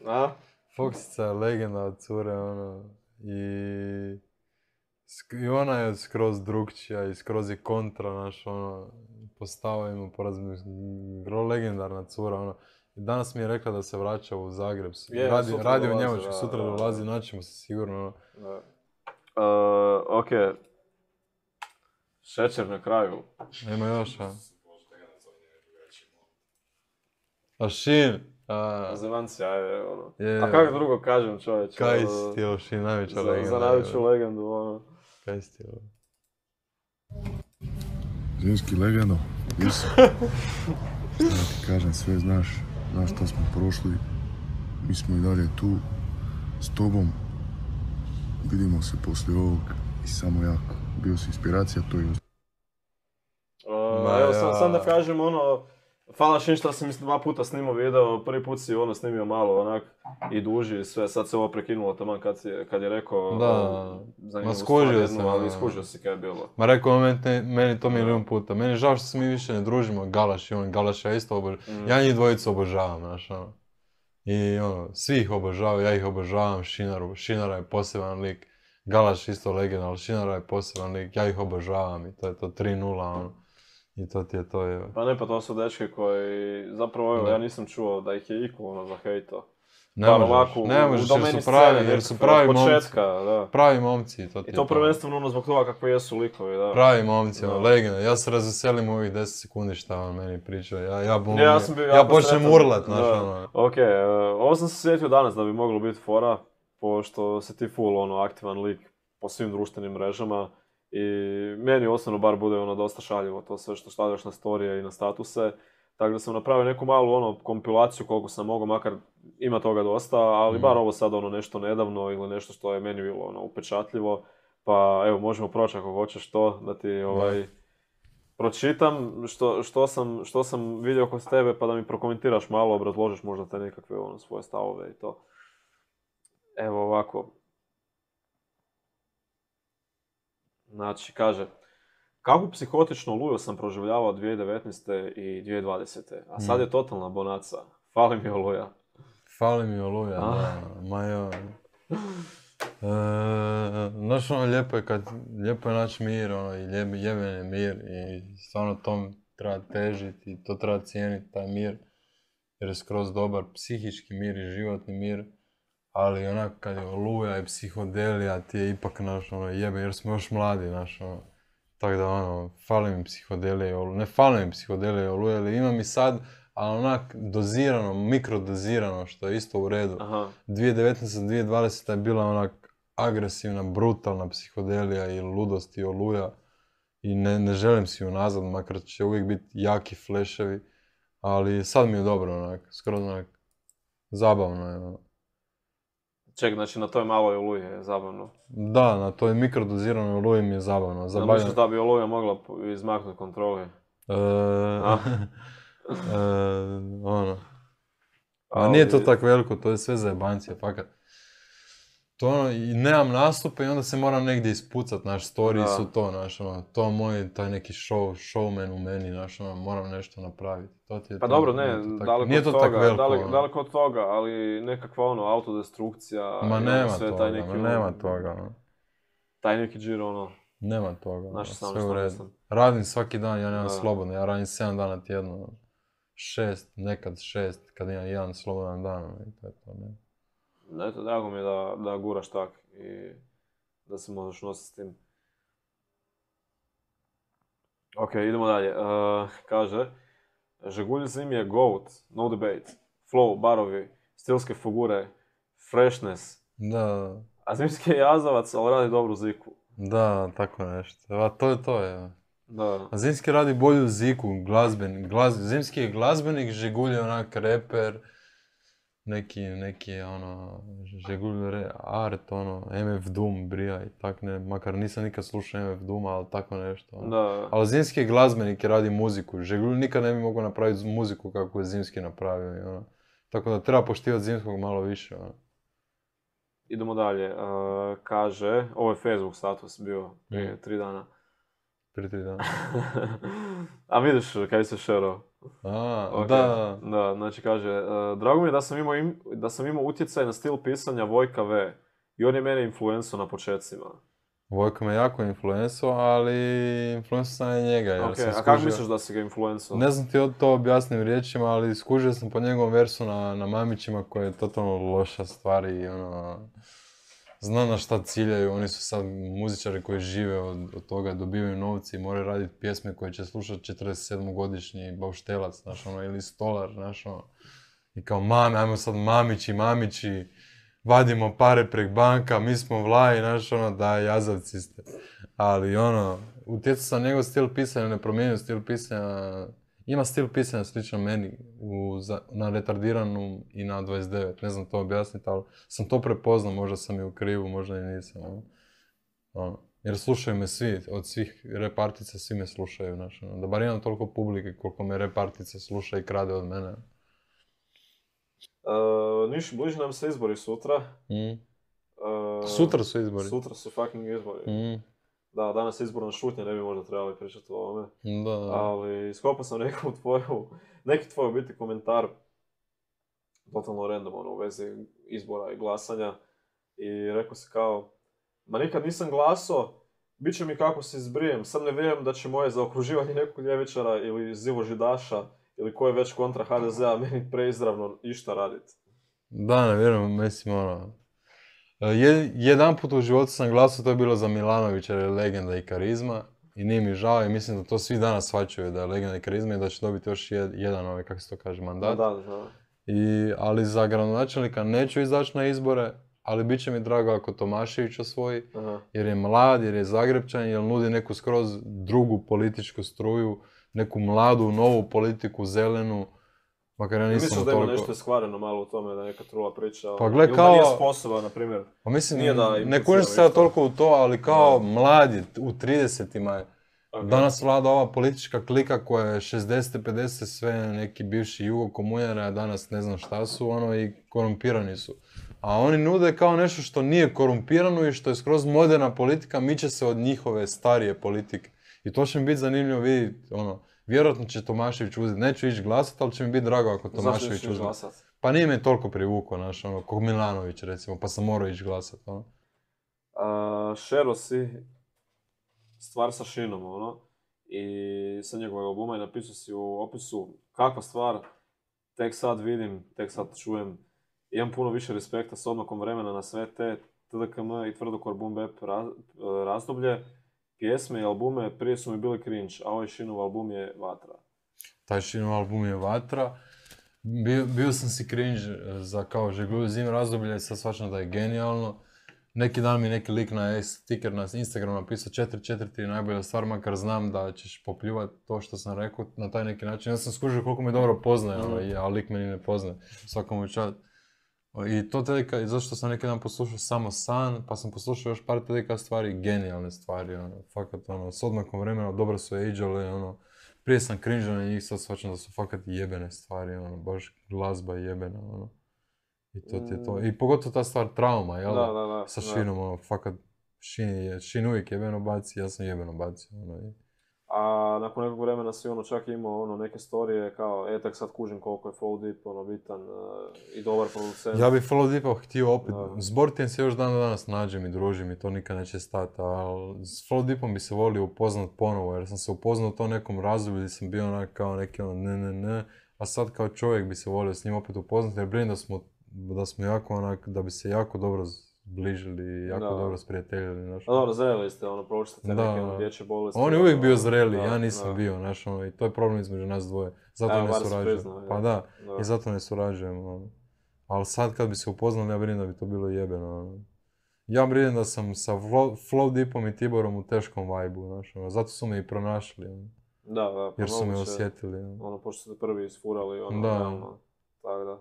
A? Foxica je legenda od cure, ono, i... I ona je skroz drugčija i skroz je kontra, naš, ono, po stavovima, po razmišljanju, legendarna cura, ono. I danas mi je rekla da se vraća u Zagreb, Je, radi, sutra radi u dolazi, Njemačkoj, da, sutra da, da. dolazi, naćemo se sigurno, ono. Da. Uh, ok. Šećer na kraju. Nema još, a? A Šin? A... Zemanci, ajde, ono. Je. A kako drugo kažem, čovječ? Kaj ono, si ti, Šin, najveća za, legenda. Za najveću legendu, ono. Kaj si ti, ovo? Zimski legendo, visi. Šta da ti kažem, sve znaš, znaš što smo prošli. Mi smo i dalje tu, s tobom. Vidimo se poslije ovog i samo jako. Bio si inspiracija, to je... Uh, Ma evo, ja. sam, sam da kažem, ono, hvala Šin što sam mislim dva puta snimao video, prvi put si ono snimio malo onak i duži i sve, sad se ovo prekinulo taman kad, si, kad je rekao Da, ono, zanimljivu ma stvar skužio jednu, sam, ali ono. skužio si kaj je bilo. Ma rekao on meni, meni to milijun puta. Meni je žao što se mi više ne družimo, Galaš i on, Galaš ja isto obožavam. Mm. Ja njih dvojicu obožavam, znaš, ono. I ono, svi ih obožavaju, ja ih obožavam, Šinaru, Šinara je poseban lik. Galaš isto legenda, ali Šinara je poseban lik, ja ih obožavam i to je to tri nula, ono. I to ti je to, je. Pa ne, pa to su dečke koji, zapravo evo, Da. ja nisam čuo da ih je iko ono zahejto. Ne Bar možeš, ovako, ne u- u možeš jer domeni su pravi, scene jer su nekako, pravi od momci. početka, da. Pravi momci, to ti I je to prvenstveno ono zbog toga kako jesu likovi, da. Pravi momci, ono, Da. legenda. Ja se razveselim u ovih deset sekundi šta on meni priča. Ja, ja, bum, Ne, ja sam bio ja jako počnem sretan. urlat, znaš, Da. ono. Ok, uh, ovo sam se sjetio danas da bi moglo biti fora, pošto si ti full ono, aktivan lik po svim društvenim mrežama i meni osobno bar bude ono dosta šaljivo to sve što stavljaš na storije i na statuse. Tako da sam napravio neku malu ono kompilaciju koliko sam mogao, makar ima toga dosta, ali Mm. bar ovo sad ono nešto nedavno ili nešto što je meni bilo ono upečatljivo. Pa evo, možemo proći ako hoćeš to, da ti ovaj, pročitam što, što, sam, što sam vidio kod tebe, pa da mi prokomentiraš malo, obrazložiš možda te nekakve ono, svoje stavove i to. Evo ovako. Znači, kaže, kakvu psihotičnu oluju sam proživljavao dvije tisuće devetnaeste i dvije tisuće dvadesete. A sad je totalna bonaca. Fali mi oluja. Fali mi oluja, da. Ma joj. E, znaš, ono, lijepo je kad, lijepo je naći mir, ono, i lijep, jeben je mir i stvarno tom treba težiti i to treba cijeniti, taj mir, jer je skroz dobar psihički mir i životni mir, ali onak kad je oluja i psihodelija ti je ipak, naš, ono, jebe, jer smo još mladi, naš, ono, tako da, ono, fali mi psihodelija i oluja, ne fali mi psihodelija i oluja, ali imam i sad, ali onak dozirano, mikrodozirano, što je isto u redu. Aha. dvije tisuće devetnaeste. dvije tisuće dvadesete. je bila onak agresivna, brutalna psihodelija i ludost i oluja. I ne, ne želim si ju nazad, makar će uvijek biti jaki fleševi. Ali sad mi je dobro, onak, skroz onak, zabavno je. Ono. Ček, znači na toj maloj oluji je zabavno. Da, na toj mikrodoziranoj oluji mi je zabavno. Zabavno. Misliš da bi oluja mogla izmaknuti kontroli? E, e, ono. A nije to tako veliko, to je sve zajebancija, fakat. To ono, i nemam nastupe i onda se moram negdje ispucat, naš storiji su to, naš, ono, to moj, taj neki show, showman u meni, naš, ono, moram nešto napraviti. To ti je pa to, dobro, ne, daleko od toga, daleko, daleko od toga, ali nekakva ono, autodestrukcija, ma nema sve toga, taj neki, ma nema ono, toga, ono. Taj neki džir, ono. Nema toga, naš ono, sve u redu. Radim svaki dan, ja nemam da. slobodno, ja radim sedam dana tjedno, ono. Šest, nekad šest, kad imam jedan slobodan dan, ono, i to je to, ne. Eto, drago mi je da, da guraš tak i da se možeš nositi s tim. Ok, idemo dalje. Uh, kaže, Žegulj Zim je GOAT, no debate. Flow, barovi, stilske figure, freshness. Da. A Zimski je jazavac, ali radi dobru ziku. Da, tako nešto. A to je to, je. Da. A Zimski radi bolju ziku, glazben, glaz, Zimski je glazbenik, Žegulj je onak reper, neki, neki, ono, Žegulj re, art, ono, M F Doom, brija i tak ne, makar nisam nikad slušao M F Doom, ali tako nešto. Ono. Da. Ali Zimski je glazbenik i radi muziku, Žegulj nikad ne bi mogao napraviti muziku kako je Zimski napravio, i, ono. Tako da treba poštivati Zimskog malo više, ono. Idemo dalje. Uh, kaže, ovo je Facebook status bio prije mm. tri dana. Prije tri dana. A vidiš kaj se šerao. A, okay. da. Da, znači kaže, uh, drago mi je da sam, imao im, da sam imao utjecaj na stil pisanja Vojka V. I on je mene influencao na početcima. Vojka me jako influencao, ali influencao sam i njega. Jer okay, sam a skužio... kako misliš da si ga influencao? Ne znam ti to objasnim riječima, ali skužio sam po njegovom versu na, na Mamićima koja je totalno loša stvar i ono... Znam na šta ciljaju, oni su sad muzičari koji žive od, od toga, dobivaju novci i moraju raditi pjesme koje će slušati četrdesetsedmogodišnji bauštelac, znaš ono, ili stolar, znaš ono. I kao mame, ajmo sad mamići, mamići, vadimo pare prek banka, mi smo vlaji, znaš ono, da, jazavci ste. Ali ono, utjecao sam njegov stil pisanja, ne promijenio stil pisanja, ima stil pisanja slično meni u, za, na retardiranu i na dvadeset devet, ne znam to objasniti, ali sam to prepoznao, možda sam i u krivu, možda i nisam. Ono. Ono. Jer slušaju me svi, od svih repartica svi me slušaju, znaš, ono. Da bar imam toliko publike koliko me repartica sluša i krade od mene. Uh, Niš, bliži nam se izbori sutra. Mm. Uh, sutra su izbori. Sutra su fucking izbori. Mm. Da, danas je izborna šutnja, ne bi možda trebali pričati o ovome. Da, da. Ali iskopao sam neku tvoju, neki tvoj biti komentar, totalno random, ono, u vezi izbora i glasanja. I rekao si kao, ma nikad nisam glasao, bit će mi kako se izbrijem, sam ne vjerujem da će moje zaokruživanje nekog ljevičara ili zivožidaša ili ko je već kontra ha de zea meni preizravno išta raditi. Da, ne vjerujem, mislim, ono... Je, jedan put u životu sam glasao, to je bilo za Milanovića, jer je legenda i karizma. I nije mi žao i mislim da to svi danas shvaćaju da je legenda i karizma i da će dobiti još jed, jedan, ovaj, kako se to kaže, mandat. Da, da, da. I, ali za gradonačelnika neću izaći na izbore, ali bit će mi drago ako Tomašević osvoji, aha, jer je mlad, jer je Zagrebčan, jer nudi neku skroz drugu političku struju, neku mladu, novu politiku, zelenu, Makar ja nisam Misliš da ima toliko... nešto iskvareno malo u tome, da neka trula priča? Pa gle, ili kao... da nije sposoban, na primjer. Pa mislim, nije da ne kužim se ja toliko u to, ali kao da. mladi, u tridesetima je. Okay. Danas vlada ova politička klika koja je šezdeset pedeset sve neki bivši jugo komunjari, a danas ne znam šta su, ono, i korumpirani su. A oni nude kao nešto što nije korumpirano i što je skroz moderna politika, miče se od njihove starije politike. I to će mi biti zanimljivo vidjeti, ono, vjerojatno će Tomašević uzeti, neću ići glasati, ali će mi biti drago ako Tomašević uzeti. Pa nije me toliko privukao, znaš, ono, ko Milanović recimo, pa sam morao ići glasati, ono. Uh, Šero si stvar sa Šinom, ono, i sa njegovog albuma i napisao si u opisu kakva stvar, tek sad vidim, tek sad čujem, imam puno više respekta s odmakom vremena na sve te T D K M i tvrdokor boom bap razdoblje, pjesme i albume prije su mi bili cringe, a ovaj Šinov album je vatra. Taj Šinov album je vatra. Bio, bio sam si cringe za kao Žegljuju zim razdoblje i sad shvaćam da je genijalno. Neki dan mi neki lik na sticker na Instagramu napisao četiri četiri tri najbolja stvar, makar znam da ćeš popljuvati to što sam rekao na taj neki način. Ja sam skužio koliko me dobro poznaje, ono, a lik meni ne poznaje. Svakom čast. I to T D K, zašto sam neki dan poslušao samo San, pa sam poslušao još par T D K stvari, genijalne stvari, ono, fakat, ono, s odmakom vremena, dobro su ageali, ono, prije sam cringe na njih, sad shvaćam da su fakat jebene stvari, ono, baš glazba jebena, ono, i to ti je to, i pogotovo ta stvar trauma, jel da, da, da, da sa Šinom, ono, fakat, Šin je, Šin uvijek jebeno baci, ja sam jebeno bacio, ono, i... A nakon nekog vremena si ono čak imao ono neke storije kao, e tak sad kužim koliko je Flow Deep ono bitan uh, i dobar producent. Ja bih Flow Deepa htio opet, da. S Bortijem se još dan danas nađem i družim i to nikad neće stati, ali s Flow Deepom bi se volio upoznat ponovo jer sam se upoznao u to nekom razdoblju gdje sam bio onak kao neki ono ne ne ne, a sad kao čovjek bi se volio s njim opet upoznat jer brinem da smo, da smo jako onak, da bi se jako dobro zbližili i jako da. dobro sprijateljili, znaš. A dobro, zreli ste, ono, pročite neke ono, dječje bolesti. On je uvijek bio zreli, da, ja nisam da. bio, znaš, ono, i to je problem između nas dvoje. Zato Evo, ne surađujemo. Priznao, pa da, da, i zato ne surađujemo, ono. Ali sad kad bi se upoznali, ja brinem da bi to bilo jebeno, ono. Ja brinem da sam sa Flow Deepom i Tiborom u teškom vibe-u, znaš, ono. Zato su me i pronašli, ono. Da, da, pa jer su me osjetili, ono. Ono, pošto ste prvi isfurali, ono, da. realno, tako da.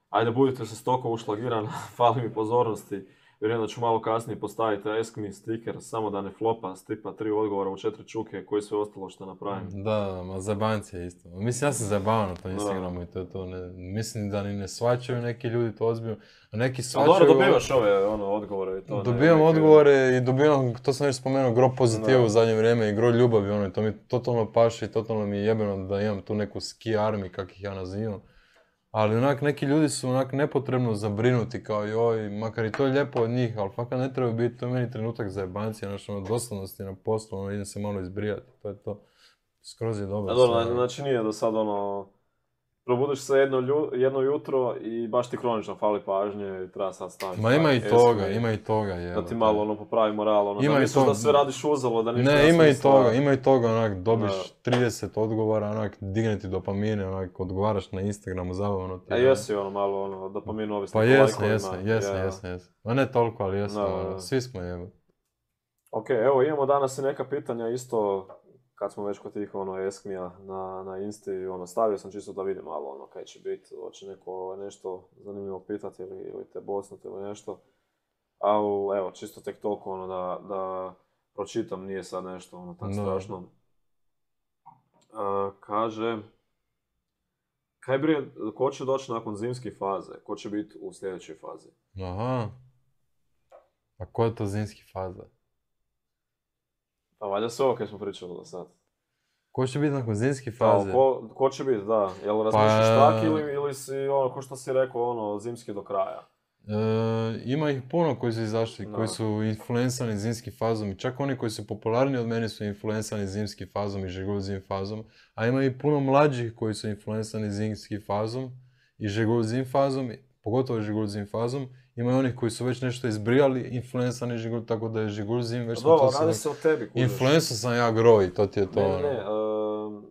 Ajde, budite se stoko ušlagiran, fali mi pozornosti. Vjerujem da ću malo kasnije postaviti Ask Me sticker, samo da ne flopa, s tipa tri odgovora u četiri čuke, koji sve ostalo što napravim. Da, ma zajebanci je isto. Mislim, ja sam zajebavan na tom Instagramu i to je to. Ne, mislim da ni ne shvaćaju neki ljudi to ozbiljno, a neki shvaćaju... Dobro, dobivaš ove ono, odgovore i to. Dobivam ne, odgovore i dobivam, to sam već spomenuo, gro pozitiva u zadnje vrijeme i gro ljubavi, ono, to mi totalno paše i totalno mi je jebeno da imam tu neku ski army, kak ih ja nazivam. Ali onak neki ljudi su onak nepotrebno zabrinuti kao joj, makar i to je lijepo od njih, ali fakat ne treba biti, to je meni trenutak za jebancije, znači ono doslovnosti na poslu, ono idem se malo izbrijati, to je to. Skroz je dobro. A dobro, znači nije do sad ono, probudiš se jedno, lju, jedno jutro i baš ti kronično fali pažnje i treba sad staviti. Ma ima i toga, ima i toga, je. Da ti malo ono popravi moral, ono, da misliš da sve radiš uzalo, da ništa ne, ima i toga, ima i toga, onak, dobiš trideset odgovora, onak, digne ti dopamine, onak, odgovaraš na Instagramu, zabavno ti. A jesi ono malo, ono, dopaminu ovisno po lajkovima. Pa jesam, jesam, jesam, jesam, jesam. Ma ne toliko, ali jesam, ono, svi smo jebe. Ok, evo, imamo danas i neka pitanja isto, kad smo već kod tih ono eskmija na, na Insti, ono, stavio sam čisto da vidim malo ono kaj će biti, hoće neko nešto zanimljivo pitati ili, ili te bosnuti ili nešto. Ali evo, čisto tek toliko ono da, da pročitam, nije sad nešto ono tako no. strašno. Uh, kaže, kaj brije, ko će doći nakon zimske faze, ko će biti u sljedećoj fazi? Aha, a ko je to zimski faza? Pa valjda sve ovo kaj smo pričali do sad. Ko će biti nakon zimske faze? Da, ko, ko će biti, da. Jel razmišljaš pa... tak ili, ili si, ono, ko što si rekao, ono, zimski do kraja? E, ima ih puno koji su izašli, no. koji su influencani zimskim fazom. I čak oni koji su popularni od mene su influencani zimskim fazom i žegulju zim fazom. A ima i puno mlađih koji su influencani zimskim fazom i žegulju zim fazom, pogotovo žegulju zim fazom. Ima i onih koji su već nešto izbrijali, influencani žigulj, tako da je žigulj zim već... Dobro, radi se o tebi, kužiš. Influencer sam ja groj, to ti je to. Ne, ne, uh,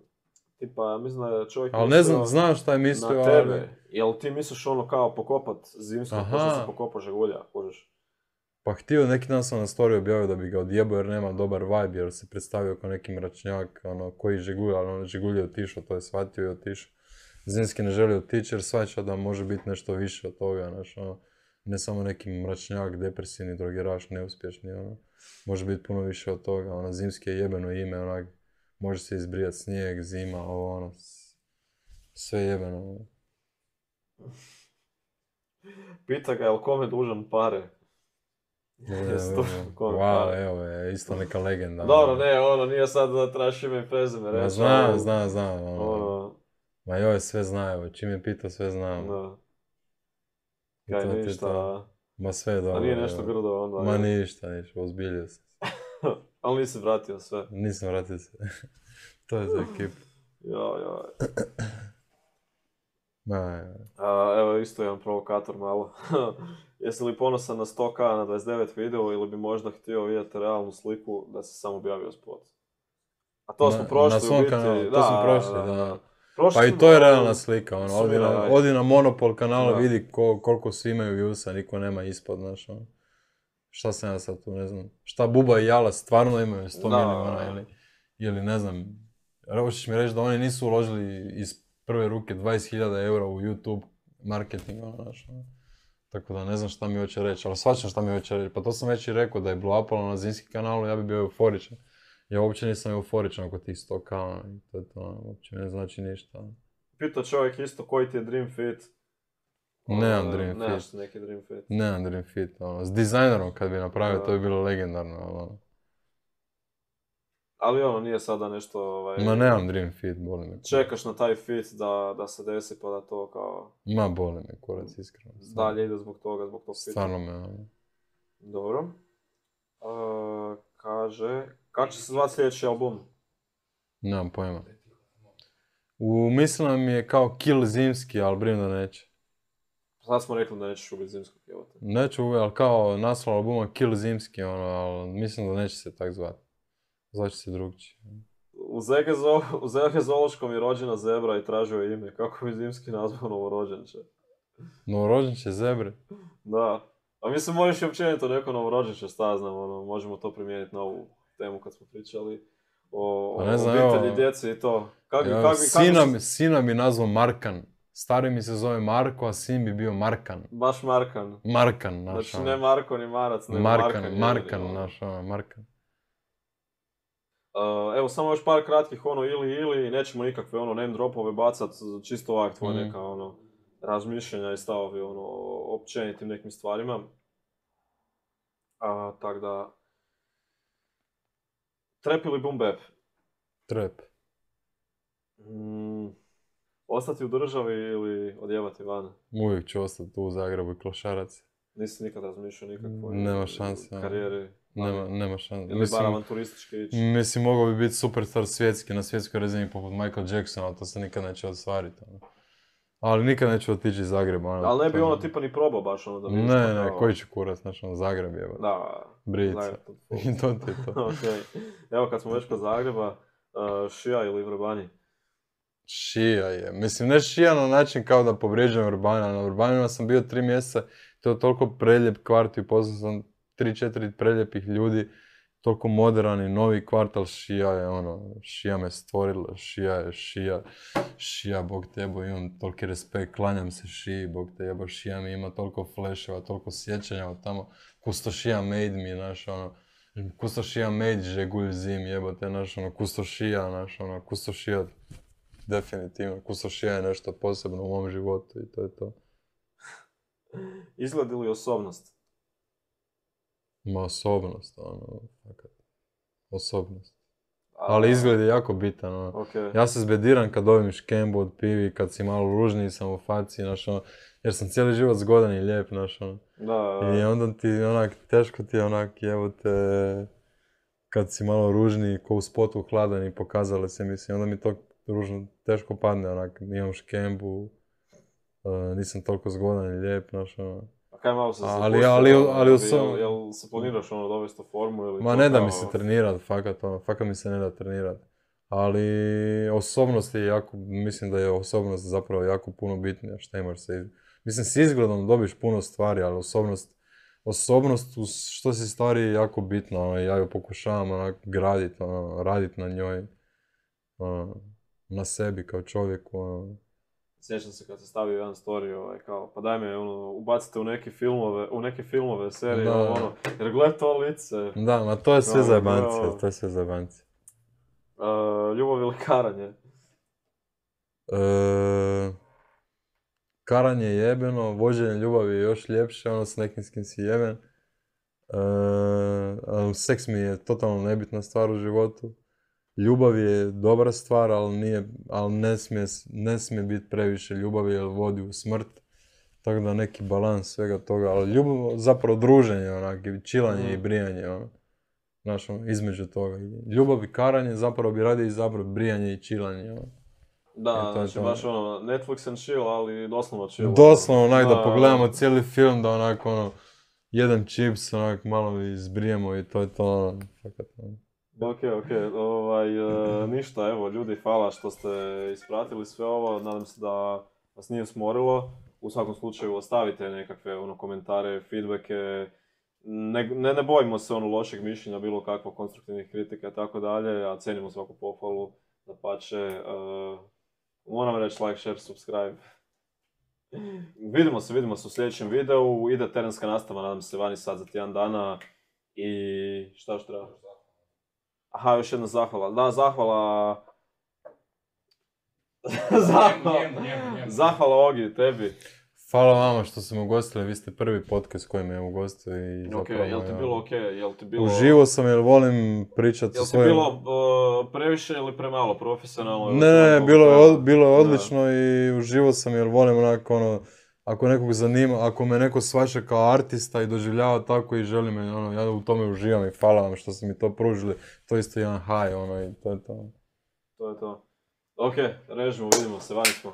tipa, mislim da je čovjek ali ne znam, znam šta je mislio, na tebe. Ali... Jel ti misliš ono kao pokopat zimsko, ko što se pokopa žigulja, kužiš? Pa htio, neki dan sam na story objavio da bi ga odjebao jer nema dobar vibe, jer se predstavio kao neki mračnjak, ono, koji žigulj, ali ono žigulj je otišao, to je shvatio i otišao. Zimski ne želi otići jer shvaća da može biti nešto više od toga, znaš, ono, ne samo neki mračnjak, depresivni drogeraš, neuspješni, ono, može biti puno više od toga, ono, Zimski je jebeno ime, onak, može se izbrijati snijeg, zima, ovo, ono, sve jebeno, ono. Pita ga, je li kome dužan pare? Wow, evo je, isto neka legenda. Dobro, ne, ono, nije sad da trebaš ime i prezime reći. Ma znam, znam, znam, ono. ono. Ma joj, sve znaju, čim je pitao, sve znam. Da. I Kaj to ti ništa, to. Ma sve dobro. a nije nešto grdo onda. Ma je. ništa, ništa, ozbiljio sam se. Ali nisi vratio sve. Nisam vratio se. To je za ekipu. Joj, joj. Ma, ja. A, evo isto jedan provokator malo. Jesi li ponosan na sto ka na dvadeset devet video ili bi možda htio vidjeti realnu sliku da se samo objavio spot? A to Na- smo prošli na svom u biti. kanalu, to da, smo prošli, da, da. da. Prošli Pa i smo, to je ali realna slika, ono, odi na, sumiraj. odi na Monopol kanala, Da. vidi ko, koliko svi imaju viewsa, niko nema ispod, znaš, ono. Šta sam ja sad tu, ne znam, šta Buba i Jala stvarno imaju sto Da. milijuna ili, ili ne znam, hoćeš mi reći da oni nisu uložili iz prve ruke dvadeset hiljada eura u YouTube marketing, ono, znaš, ono. Tako da ne znam šta mi hoće reći, ali shvaćam šta mi hoće reći, pa to sam već i rekao da je blow upalo na Zimski kanalu, ja bi bio euforičan. Ja uopće nisam euforičan oko tih sto ka, ono, i to je to, ono, uopće ne znači ništa, ono. Pita čovjek isto koji ti je dream fit. Nemam Ono, dream nemaš fit. neki dream fit. Nemam dream fit, ono, s dizajnerom kad bi napravio, Da. to bi bilo legendarno, ali ono. Ali ono, nije sada nešto, ovaj... Ma nemam dream fit, boli me. Čekaš na taj fit da, da se desi pa da to kao... Ma boli me kurac, iskreno. Dalje ide zbog toga, zbog tog fita. Stvarno me, ono. Dobro. Uh, kaže, kako će se zvati sljedeći album? Nemam pojma. U mislima mi je kao Kill Zimski, ali brim da neće. Sad smo rekli da nećeš ubiti zimskog jebote. Neću uvijek, ali kao naslov albuma Kill Zimski, ono, ali mislim da neće se tak zvati. Zvaće se drugčije. U Zege, zo, u Zege Zološkom je rođena zebra i tražio je ime. Kako bi zimski nazvao novorođenče? Novorođenče zebre. Da. A mislim, možeš i općenito neko novorođenče, šta znam, ono, možemo to primijeniti na ovu temu kad smo pričali o, Pa o ne znam, obitelji, evo, djeci i to. Kak, bi- Evo, kak, bi- kako sina, se- mi- sina mi nazvao Markan. Stari mi se zove Marko, a sin bi bio Markan. Baš Markan. Markan, naš Znači ono. ne Marko ni Marac, nego Markan, Markan. Markan, jedini, ono. naš ono, Markan. Uh, evo, samo još par kratkih, ono, ili, ili, nećemo nikakve, ono, name dropove bacat, čisto ovak tvoje Mhm. neka, ono, razmišljenja i stavovi, ono, o općenitim nekim stvarima. A, tak da... Trap ili boom bap? Trap. Mm, ostati u državi ili odjevati van? Uvijek ću ostati tu u Zagrebu i klošarac. Nisi nikad razmišljao nikakvoj Nema šanse, ono. karijeri? Nema, nema šanse. Ili bar avanturistički ići? Mislim, mogao bi biti superstar svjetski, na svjetskoj razini poput Michael Jacksona, ali to se nikad neće ostvariti. Ono. Ali nikad neću otići iz Zagreba. Ono, Ali ne bi to- ono tipa ni probao baš ono da vidiš Ne, pa ne, kao- koji će kurac, znaš, ono, Zagreb je. Da, Brica. Zagreb to- I to ti je to. Ok. Evo kad smo već kod Zagreba, uh, Šija ili Vrbani? Šija je. Mislim, ne šija na način kao da povrijeđujem Vrbana. Na Vrbanima sam bio tri mjeseca, to je toliko prelijep kvart i upoznao sam tri, četiri prelijepih ljudi, toliko moderan i novi kvart, ali šija je ono, šija me stvorila, šija je šija, šija, bog te jebo, imam toliki respekt, klanjam se šiji, bog te jebo, šija mi ima toliko fleševa, toliko sjećanja od tamo, kusto šija made me, znaš, ono, kusto šija made žegulj zim, jebote, znaš, ono, kusto šija, znaš, ono, kusto šija, definitivno, kusto šija je nešto posebno u mom životu i to je to. Izgled ili osobnost? Ma osobnost, ono, fakat. Osobnost. A- Ali izgled je jako bitan, ono. Ok. Ja se zbediram kad dobijem škembu od pivi, kad si malo ružniji sam u faci, znaš, ono, jer sam cijeli život zgodan i lijep, znaš, ono. Da, I onda ti, onak, teško ti je, onak, evo te, kad si malo ružniji, ko u spotu hladan i pokazali se, mislim, onda mi to ružno teško padne, onak, imam škembu, uh, nisam toliko zgodan i lijep, znaš, ono. A kaj malo se Ali- zapustio, ali- ono, ali u jel, sam- jel se planiraš ono dovesti u formu ili... Ma to ne da kao- mi se trenirat, fakat, ono, fakat mi se ne da trenirat. Ali osobnost je jako, mislim da je osobnost zapravo jako puno bitnija, šta imaš se iz... Mislim, s izgledom dobiš puno stvari, ali osobnost, osobnost u što si stvari je jako bitna, ono, ja ju pokušavam onak graditi, ono, raditi na njoj, ono, na sebi kao čovjeku, ono. sjećam se kad se stavio jedan story, ovaj, kao, pa daj me, ono, ubacite u neke filmove, u neke filmove, serije, Da. ono, jer gled to lice. Da, ma to je sve Ono, zajebancija, ono. to je sve zajebancija. Uh, ljubav ili karanje? E, karanje je jebeno, vođenje ljubavi je još ljepše, ono s nekim s kim si jeben. E, ali seks mi je totalno nebitna stvar u životu. Ljubav je dobra stvar, ali, nije, ali ne, smije, ne smije biti previše ljubavi jer vodi u smrt. Tako da neki balans svega toga, ali ljubav, zapravo druženje, onak, i čilanje Mm. i brijanje, ono. Znaš, ono, između toga. Ljubav i karanje zapravo bi radije izabrao brijanje i čilanje, ono. Da, I to je znači to. baš ono, Netflix and chill, ali doslovno chill. Doslovno, onak, da Da, pogledamo cijeli film, da onak, ono, jedan čips, onak, malo izbrijemo i to je to, ono, fakat, ono. Ok, ok, ovaj, e, ništa, evo, ljudi, hvala što ste ispratili sve ovo, nadam se da vas nije smorilo. U svakom slučaju ostavite nekakve ono, komentare, feedbacke, ne, ne, ne bojimo se ono lošeg mišljenja, bilo kakvo konstruktivnih kritika i tako dalje, a cenimo svaku pohvalu, dapače, uh, moram reći like, share, subscribe. Vidimo se, vidimo se u sljedećem videu, ide terenska nastava, nadam se, vani sad za tjedan dana i šta još treba? Aha, još jedna zahvala. Da, zahvala... zahvala... zahvala Ogi, tebi. Hvala vama što ste me ugostili, vi ste prvi podcast koji me je ugostio i zapravo... Ok, jel ti ja, bilo ok? Jel ti bilo... Uživo sam jer volim pričati Jel sa ti svojim... bilo uh, previše ili premalo profesionalno? ili Ne, ne, kako bilo je, treba? od- bilo je Da. odlično i uživo sam jer volim onako ono... Ako nekog zanima, ako me neko shvaća kao artista i doživljava tako i želi me, ono, ja u tome uživam i hvala vam što ste mi to pružili. To je isto jedan high, ono, i to je to. To je to. Ok, režimo, vidimo se, vani smo.